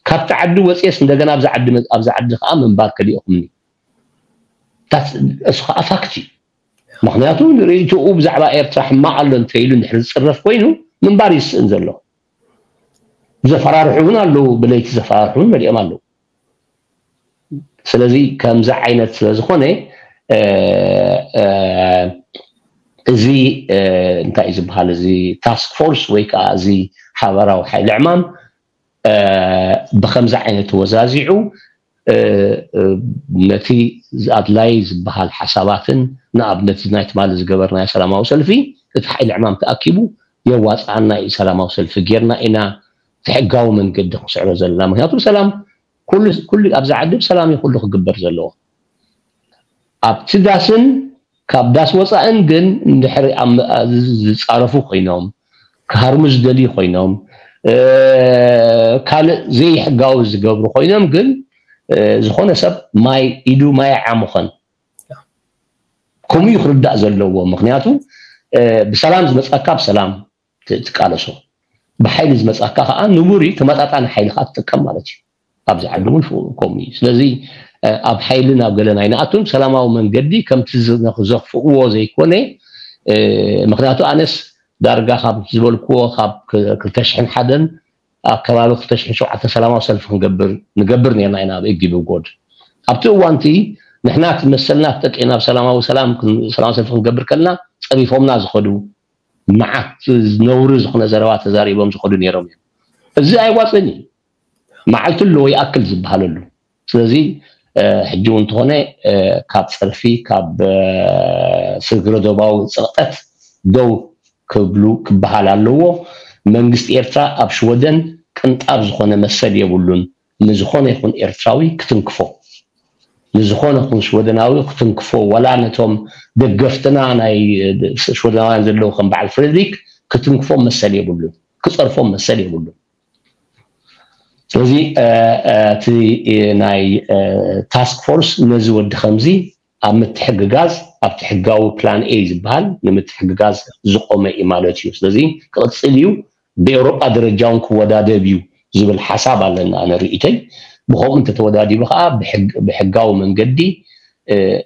ካብቲ ዓዲ ወፅየስ እንደገና ኣብዚ ዓዲ ኣብዚ ዓዲ ከዓ ምንባር ከሊእኹምኒ እሱ ከዓ ፋክት እዩ። ምክንያቱ ርእይትኡ ብዛዕባ ኤርትራ ሕማቕ ኣሎ እንተኢሉ እንድሕር ዝፅረፍ ኮይኑ ምንባር ይስእን ዘሎ። ዘፈራርሑ እውን ኣለዉ፣ ብለይቲ ዘፈራርሑ እውን መሊኦም ኣለዉ። ስለዚ ከምዚ ዓይነት ስለ ዝኾነ እዚ እንታይ እዩ ዝበሃል፣ እዚ ታስክ ፎርስ ወይ ከዓ እዚ ሓበራዊ ሓይሊ ዕማም ብከምዚ ዓይነት ተወዛዚዑ ነቲ ኣድላይ ዝበሃል ሓሳባትን ንኣብነት ናይ ትማሊ ዝገበርናዮ ሰላማዊ ሰልፊ እቲ ሓይሊ ዕማም ተኣኪቡ የዋፅኣና እዩ፣ ሰላማዊ ሰልፊ ጌርና ኢና እቲ ሕጋዊ መንገዲ ክንስዕሮ ዘለና። ምክንያቱ ሰላም ኩሉ ኣብዚ ዓዲ ብሰላም እዩ ኩሉ ክግበር ዘለዎ። ኣብቲ ዳስን ካብ ዳስ ወፃእን ግን እንድሕር ዝፃረፉ ኮይኖም፣ ክሃርሙ ዝደልዩ ኮይኖም፣ ካልእ ዘይሕጋዊ ዝገብሩ ኮይኖም ግን ዝኾነ ሰብ ማይ ኢዱ ማይ ዓሙኸን ከምኡ እዩ ክርዳእ ዘለዎ። ምክንያቱ ብሰላም ዝመፃካ ብሰላም ትቃለሶ፣ ብሓይሊ ዝመፃካ ከዓ ንቡር እዩ፣ ተመጣጣኒ ሓይሊ ከዓ ትጥቀም ማለት እዩ። ኣብዚ ዓዲ እውን ከምኡ እዩ። ስለዚ ኣብ ሓይሊ ናብ ገለ ኣይንኣቱን፣ ሰላማዊ መንገዲ ከምቲ ዘኽፍእዎ ዘይኮነ። ምክንያቱ ኣነስ ዳርጋ ካብ ዝበልክዎ ካብ ክልተ ሽሕን ሓደን ኣብ ከባቢ ክልተ ሽሕን ሸውዓተን ሰላማዊ ሰልፊ ክንገብር ንገብር ነርና ኢና ኣብ ኤግዲ ብጎድ። ኣብቲ እዋንቲ ንሕና እቲ መሰልና ተጠቂምና ብሰላማዊ ሰላም ሰላማዊ ሰልፊ ክንገብር ከለና ፀሪፎምና ዝኸዱ መዓት ነውሪ ዝኾነ ዘረባ ተዛሪቦም ዝኸዱ ነይሮም እዮም። እዚ ኣይዋፅን እዩ። መዓልቲ ኣለዎ ይኣክል ዝበሃለሉ። ስለዚ ሕጂ እውን እንተኾነ ካብ ፀርፊ ካብ ስግረ ዶባዊ ፅቕጠት ደው ክብሉ ክበሃል ኣለዎ። መንግስቲ ኤርትራ ኣብ ሽወደን ቅንጣብ ዝኾነ መሰል የብሉን ንዝኾነ ይኹን ኤርትራዊ ክትንክፎ፣ ንዝኾነ ይኹን ሽወደናዊ ክትንክፎ፣ ዋላ ነቶም ደገፍትና ናይ ሽወደናውያን ዘለዉ ከም በዓል ፍሬድሪክ ክትንክፎም መሰል የብሉን፣ ክፀርፎም መሰል የብሉን። ስለዚ እቲ ናይ ታስክ ፎርስ ነዚ ወዲ ከምዚ ኣብ ምትሕግጋዝ ኣብቲ ሕጋዊ ፕላን ኤ ዝበሃል ንምትሕግጋዝ ዝቆመ እዩ ማለት እዩ። ስለዚ ክቕፅል እዩ፣ ብኤውሮጳ ደረጃ እውን ክወዳደብ እዩ ዝብል ሓሳብ ኣለና። ኣነ ርእይተይ ብከምኡ እንተተወዳዲቡ ከዓ ብሕጋዊ መንገዲ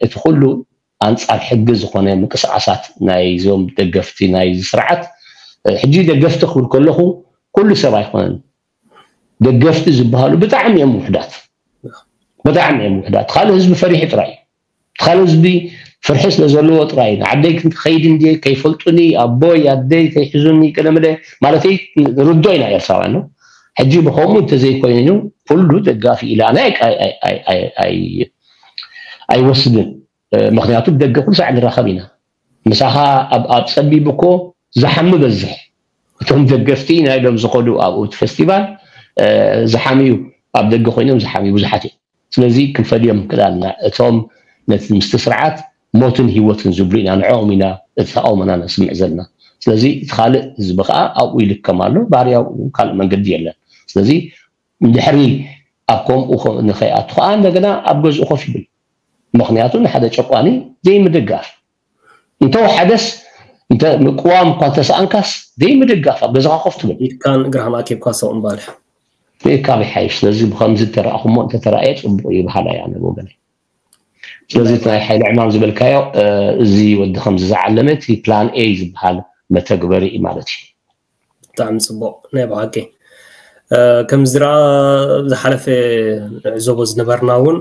እቲ ኩሉ ኣንፃር ሕጊ ዝኾነ ምንቅስቃሳት ናይዞም ደገፍቲ ናይዚ ስርዓት ሕጂ ደገፍቲ ክብል ከለኹ ኩሉ ሰብ ኣይኮነን። ደገፍቲ ዝበሃሉ ብጣዕሚ እዮም ውሕዳት፣ ብጣዕሚ እዮም ውሕዳት። ካልእ ህዝቢ ፈሪሑ ጥራይ እዩ። ካልእ ህዝቢ ፍርሒ ስለ ዘለዎ ጥራይ ንዓደይ ክንከይድ እንድየ ከይፈልጡኒ ኣቦይ ኣደይ ከይሕዙኒ ቅደምለ ማለተይ ርዶ ኢና ኤርትራውያን ነው። ሕጂ ብከምኡ እንተዘይኮይኑ ኩሉ ደጋፊ ኢላና ኣይወስድን። ምክንያቱ ብደገ ኩሉ ሳዕ ንራኸብ ኢና። ምሳኻ ኣብ ጸቢብ እኮ ዝሓሚ በዝሕ። እቶም ደገፍቲ ናይ ኢሎም ዝኸዱ ኣብኡ እቲ ፈስቲቫል ዝሓምዩ ኣብ ደገ ኮይኖም ዝሓምዩ ብዙሓት እዮም። ስለዚ ክንፈልዮም ክዳልና እቶም ነቲ ምስቲ ስርዓት ሞትን ህይወትን ዝብሉ ኢና ንዕኦም ኢና እቲ ተቃውሞና ነስምዕ ዘለና። ስለዚ እቲ ካልእ ህዝቢ ከዓ ኣብኡ ይልከም ኣሎ። ባህርያዊ ካልእ መንገዲ የለን። ስለዚ እንድሕሪ ኣብ ከምኡ ንኸይኣቱ ከዓ እንደገና ኣብ ገዝኡ ኮፍ ይብል። ምክንያቱ ንሓደ ጨቋኒ ዘይምድጋፍ እንተወሓደስ እንተ ምቅዋም እኳ እንተሰኣንካስ ዘይምድጋፍ ኣብ ገዛኻ ኮፍ ትብል። ኢድካን እግራህን ኣኪብካ ሰው እምባልሕ። ብእካብ ይሓይሽ። ስለዚ ብከምዚ ተረእኹሞ እንተተረእየ ፅቡቅ እዩ በሃላይ ኣነ ብወገነይ። ስለዚ እቲ ናይ ሓይሊ ዕማም ዝበልካዮ እዚ ወዲ ከምዚ ዝዓለመ እቲ ፕላን ኤ ዝበሃል መተግበሪ እዩ ማለት እዩ። ብጣዕሚ ፅቡቅ ናይ ብሓቂ ከምዚ ዝረኣ ዝሓለፈ ንዕዘቦ ዝነበርና እውን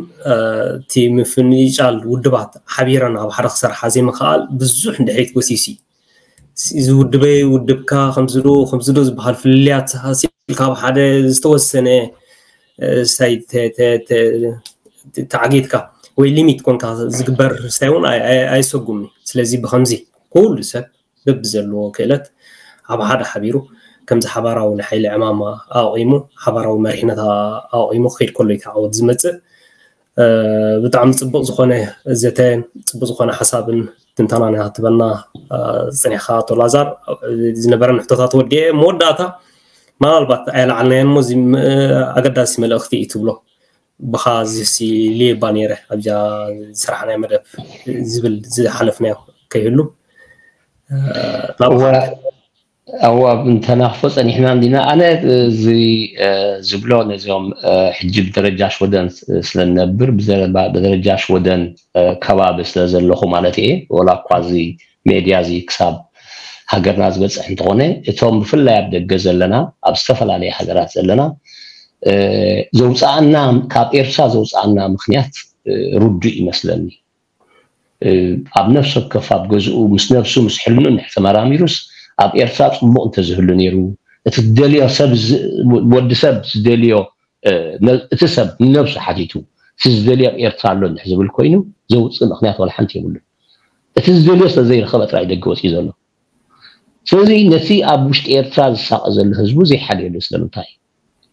እቲ ምፍንጫል ውድባት ሓቢረን ኣብ ሓደ ክሰርሓ ዘይምክኣል ብዙሕ እንድሕሪት ጎሲሱ እዩ። እዚ ውድበይ ውድብካ ከምዚ ዶ ከምዚ ዶ ዝበሃል ፍልልያት ሃሲልካ ኣብ ሓደ ዝተወሰነ ስታይ ተዓጊትካ ወይ ሊሚት ኮንካ ዝግበር ስታይ እውን ኣይሰጉምኒ። ስለዚ ብከምዚ ኩሉ ሰብ በብዘለዎ ክእለት ኣብ ሓደ ሓቢሩ ከምዚ ሓባራዊ ናይ ሓይሊ ዕማማ ኣቂሙ ሓባራዊ መሪሕነት ኣቂሙ ክኸይድ ከሎ እዩ ዓወት ዝመፅእ። ብጣዕሚ ፅቡቅ ዝኾነ ዘተ፣ ፅቡቅ ዝኾነ ሓሳብን ትንተናን ኢኻ ትበና ዝፀኒሕካ ኣቶ ላዛር። ዝነበረን ሕቶታት ወዲኤ መወዳእታ ምናልባት ኣየለዓልናዮን እሞ ኣገዳሲ መልእኽቲ እዩ ትብሎ ብኻ ዝሲ ልየባ ነይረ ኣብዛ ዝስራሕናዮ መደብ ዝብል ዝሓለፍናዮ ከይህሉ ኣዋ፣ እንተናኽፎ ጸኒሕና እንዲና። ኣነ እዚ ዝብሎ ነዚኦም ሕጂ ብደረጃ ሽወደን ስለንነብር፣ ብደረጃ ሽወደን ከባቢ ስለ ዘለኹ ማለት እየ። ወላ እኳ እዚ ሜድያ እዚ ክሳብ ሃገርና ዝበፅሕ እንተኾነ፣ እቶም ብፍላይ ኣብ ደገ ዘለና፣ ኣብ ዝተፈላለየ ሃገራት ዘለና ዘውፃኣና፣ ካብ ኤርትራ ዘውፃኣና ምክንያት ርዱእ ይመስለኒ። ኣብ ነፍሲ ወከፍ ኣብ ገዝኡ ምስ ነብሱ ምስ ሕልኑ እንድሕር ተመራሚሩስ፣ ኣብ ኤርትራ ፅቡቕ እንተዝህሉ ነይሩ፣ እቲ ዝደልዮ ሰብ፣ ወዲ ሰብ ዝደልዮ፣ እቲ ሰብ ንነብሱ ሓቲቱ፣ እቲ ዝደልዮ ኣብ ኤርትራ ኣሎ እንድሕር ዝብል ኮይኑ፣ ዘውፅእ ምክንያት ዋላ ሓንቲ የብሉን። እቲ ዝደልዮ ስለ ዘይረኸበ ጥራይ ደገ ወፂኡ ዘሎ። ስለዚ ነቲ ኣብ ውሽጢ ኤርትራ ዝሳቐ ዘሎ ህዝቡ ዘይሓልየሉ ስለምንታይ?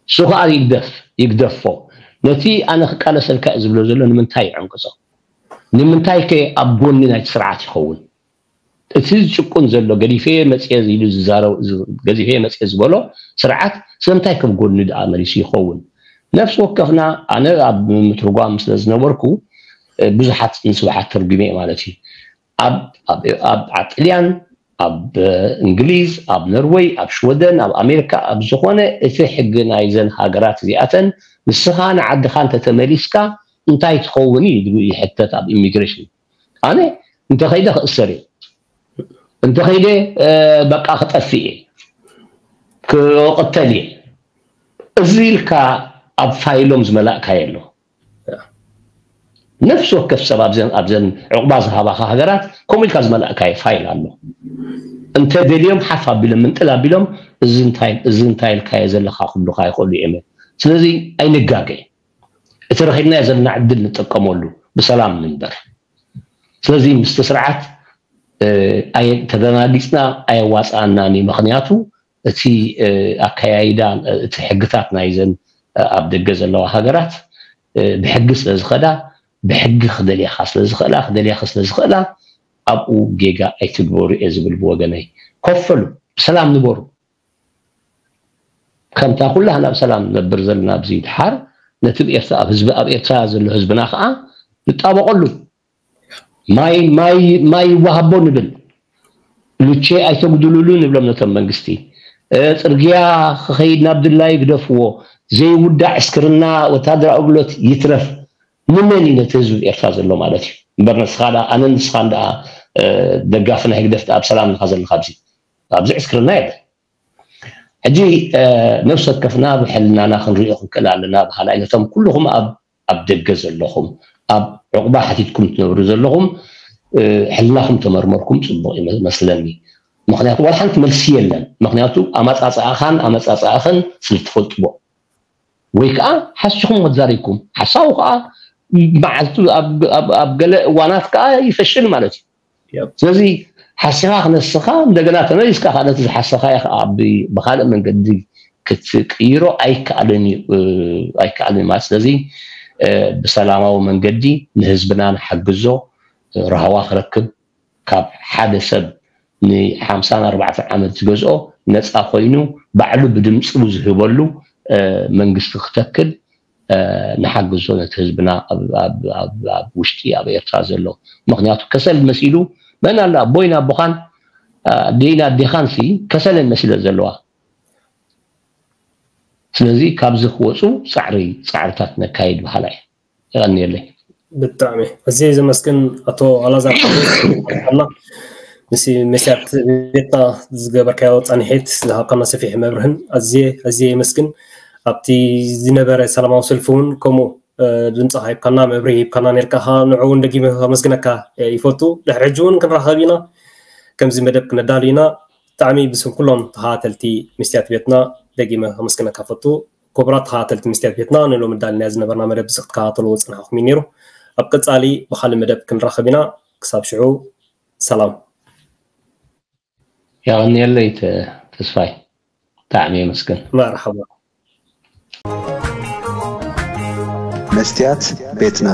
እሱ ከዓ ይግደፍ፣ ይግደፎ። ነቲ ኣነ ክቃለሰልካ እየ ዝብሎ ዘሎ ንምንታይ ይዕንቅጾ? ንምንታይ ከ ኣብ ጎኒ ናይቲ ስርዓት ይኸውን? እቲ ዝጭቁን ዘሎ፣ ገዲፈ መፅየ ኢሉ ዝዛረብ፣ ገዲፈ መፅየ ዝበሎ ስርዓት ስለምንታይ ከም ጎኒ ደኣ መሊሱ ይኸውን? ነፍሲ ወከፍና፣ ኣነ ኣብ ምትርጓም ስለ ዝነበርኩ ብዙሓት ንስብሓት ተርጉሜ ማለት እዩ። ኣብ ኣብ ኣብ ኣብ ጥልያን፣ ኣብ እንግሊዝ፣ ኣብ ኖርወይ፣ ኣብ ሽወደን፣ ኣብ ኣሜሪካ፣ ኣብ ዝኾነ እቲ ሕጊ ናይዘን ሃገራት እዚኣተን፣ ንስኻ ንዓድኻ እንተተመሊስካ እንታይ ትኸውን እዩ? ይሕተት ኣብ ኢሚግሬሽን። ኣነ እንተኸይደ ክእሰር እየ፣ እንተኸይደ በቃ ክጠፍእ እየ፣ ክቕተል እየ፣ እዚ ኢልካ ኣብ ፋይሎም ዝመላእካዮ ኣሎ። ነፍሲ ወከፍ ሰብ ኣብዘን ኣብዘን ዕቑባ ዝሃባኻ ሃገራት ከምኡ ኢልካ ዝመላእካዮ ፋይል ኣሎ። እንተ ደልዮም ሓፍ ኣቢሎም ምንጥል ኣቢሎም፣ እዚ እንታይ፣ እዚ እንታይ ኢልካዮ ዘለኻ ክብሉኻ ይኽእሉ እዮም። ስለዚ ኣይንጋገ፣ እቲ ረኺብናዮ ዘለና ዕድል ንጥቀመሉ፣ ብሰላም ንንበር። ስለዚ ምስቲ ስርዓት ተደናጊፅና ኣየዋፅኣናን እዩ። ምክንያቱ እቲ ኣከያይዳ፣ እቲ ሕግታት ናይዘን ኣብ ደገ ዘለዋ ሃገራት ብሕጊ ስለ ዝኸዳ፣ ብሕጊ ክደልያኻ ስለ ዝኽእላ፣ ክደልያኺ ስለ ዝኽእላ፣ ኣብኡ ጌጋ ኣይትግበሩ እየ ዝብል ብወገነይ። ኮፈሉ፣ ብሰላም ንበሩ። ከምታ ኩላህና ብሰላም ንነብር ዘለና ኣብዚ ድሓር፣ ነቲ ብኤርትራ፣ ኣብ ህዝቢ፣ ኣብ ኤርትራ ዘሎ ህዝብና ከዓ ንጣበቐሉ። ማይ፣ ማይ፣ ማይ ይወሃቦ ንብል። ሉቼ ኣይተጉድሉሉ ንብሎም ነቶም መንግስቲ። ጽርግያ ክኸይድ ናብ ድላዩ ግደፍዎ። ዘይውዳእ ዕስክርና ወታደራዊ ኣገልግሎት ይትረፍ። ንመን እዩ ነቲ ህዝቢ ኤርትራ ዘሎ ማለት እዩ? እምበር ንስኻ ደኣ፣ ኣነን ንስኻን ደኣ ደጋፊ ናይ ህግደፍ ደኣ ብሰላም ኢኻ ዘለኻ ኣብዚ። ኣብዚ ዕስክርና የለን። ሕጂ ነፍሲ ወከፍና ብሕልናና ክንሪኦ ክንክእል ኣለና። ብኻልኣይ ነቶም ኩልኹም ኣብ ኣብ ደገ ዘለኹም፣ ኣብ ዕቑባ ሓቲትኩም ትነብሩ ዘለኹም፣ ሕልናኹም ተመርመርኩም ጽቡቕ ይመስለኒ። ምኽንያቱ ዋላ ሓንቲ መልሲ የለን። ምኽንያቱ ኣመጻጽኣኻን ኣመጻጽኣኽን ስለ ትፈልጥዎ። ወይ ከዓ ሓሲኹም ተዛሪብኩም፣ ሓሳዊ ከዓ መዓልቱ ኣብ ገለ እዋናት ከዓ ይፈሽል ማለት እዩ። ስለዚ ሓሲኻ ክነስኻ እንደገና ተመሊስካ ከዓ ነቲ ዝሓሰኻዮ ከዓ ብካልእ መንገዲ ክትቅይሮ ኣይከኣልን እዩ። ኣይከኣልን ማለት ስለዚ ብሰላማዊ መንገዲ ንህዝብና ንሓግዞ፣ ራህዋ ክረክብ፣ ካብ ሓደ ሰብ ንሓምሳን ኣርባዕተን ዓመት ዝገዝኦ ነፃ ኮይኑ ባዕሉ ብድምፁ ዝህበሉ መንግስቲ ክተክል ንሓግዞ ነቲ ህዝብና ኣብ ውሽጢ ኣብ ኤርትራ ዘሎ። ምክንያቱ ከሰል መሲሉ መን ኣሎ ኣቦይን ኣቦኻን ኣደይን ኣዴኻን ሲ ከሰለን መሲለን ዘለዋ። ስለዚ ካብዚ ክወፁ ፃዕሪ ፃዕርታት ነካይድ በሃላይ። የቐንየለይ። ብጣዕሚ ኣዝየ ዘመስግን ኣቶ ኣላዛር ሓጎስ፣ ምስ መስትያት ቤትና ዝገበርካዮ ፃንሒት ዝሃብካና ሰፊሕ መብርህን ኣዝየ ኣዝየ የመስግን። ኣብቲ ዝነበረ ሰላማዊ ሰልፊ እውን ከምኡ ድምፅኻ ሂብካና መብርሂ ሂብካና ነርካ፣ ንዑ እውን ደጊመ ከመስግነካ ይፈቱ። ድሕሪ ሕጂ እውን ክንራኸብ ኢና፣ ከምዚ መደብ ክነዳሉ ኢና። ብጣዕሚ ብስም ኩሎም ተኸታተልቲ መስትያት ቤትና ደጊመ ከመስግነካ ፈቱ። ክቡራት ተኸታተልቲ መስትያት ቤትና፣ ንሎሚ ኣዳሊናዮ ዝነበርና መደብ እዚ ክትከታተልዎ ዝጸናሕኩም እዩ ነይሩ። ኣብ ቀጻሊ ብኻልእ መደብ ክንራኸብ ኢና። ክሳብ ሽዑ ሰላም። የቐንየለይ ተስፋይ፣ ብጣዕሚ የመስግን። መርሓባ። መስትያት ቤትና።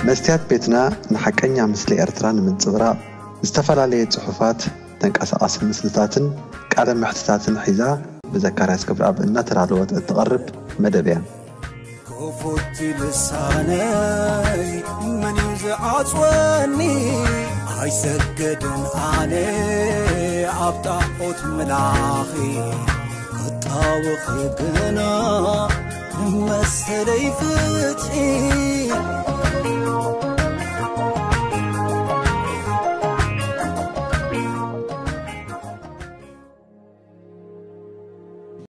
መስትያት ቤትና ንሓቀኛ ምስሊ ኤርትራ ንምንጽብራቕ ዝተፈላለየ ጽሑፋት፣ ተንቀሳቓሲ ምስልታትን ቃለ መሕትታትን ሒዛ ብዘካርያስ ገብረኣብ እናተዳለወት እትቐርብ መደብ እያ። ክፉት ልሳነይ መን እዩ ዝዓጽወኒ ኣይሰግድን ኣነ ኣብ ጣዖት ምላኺ ክጣወኺ ግና ንመሰለይ ፍትሒ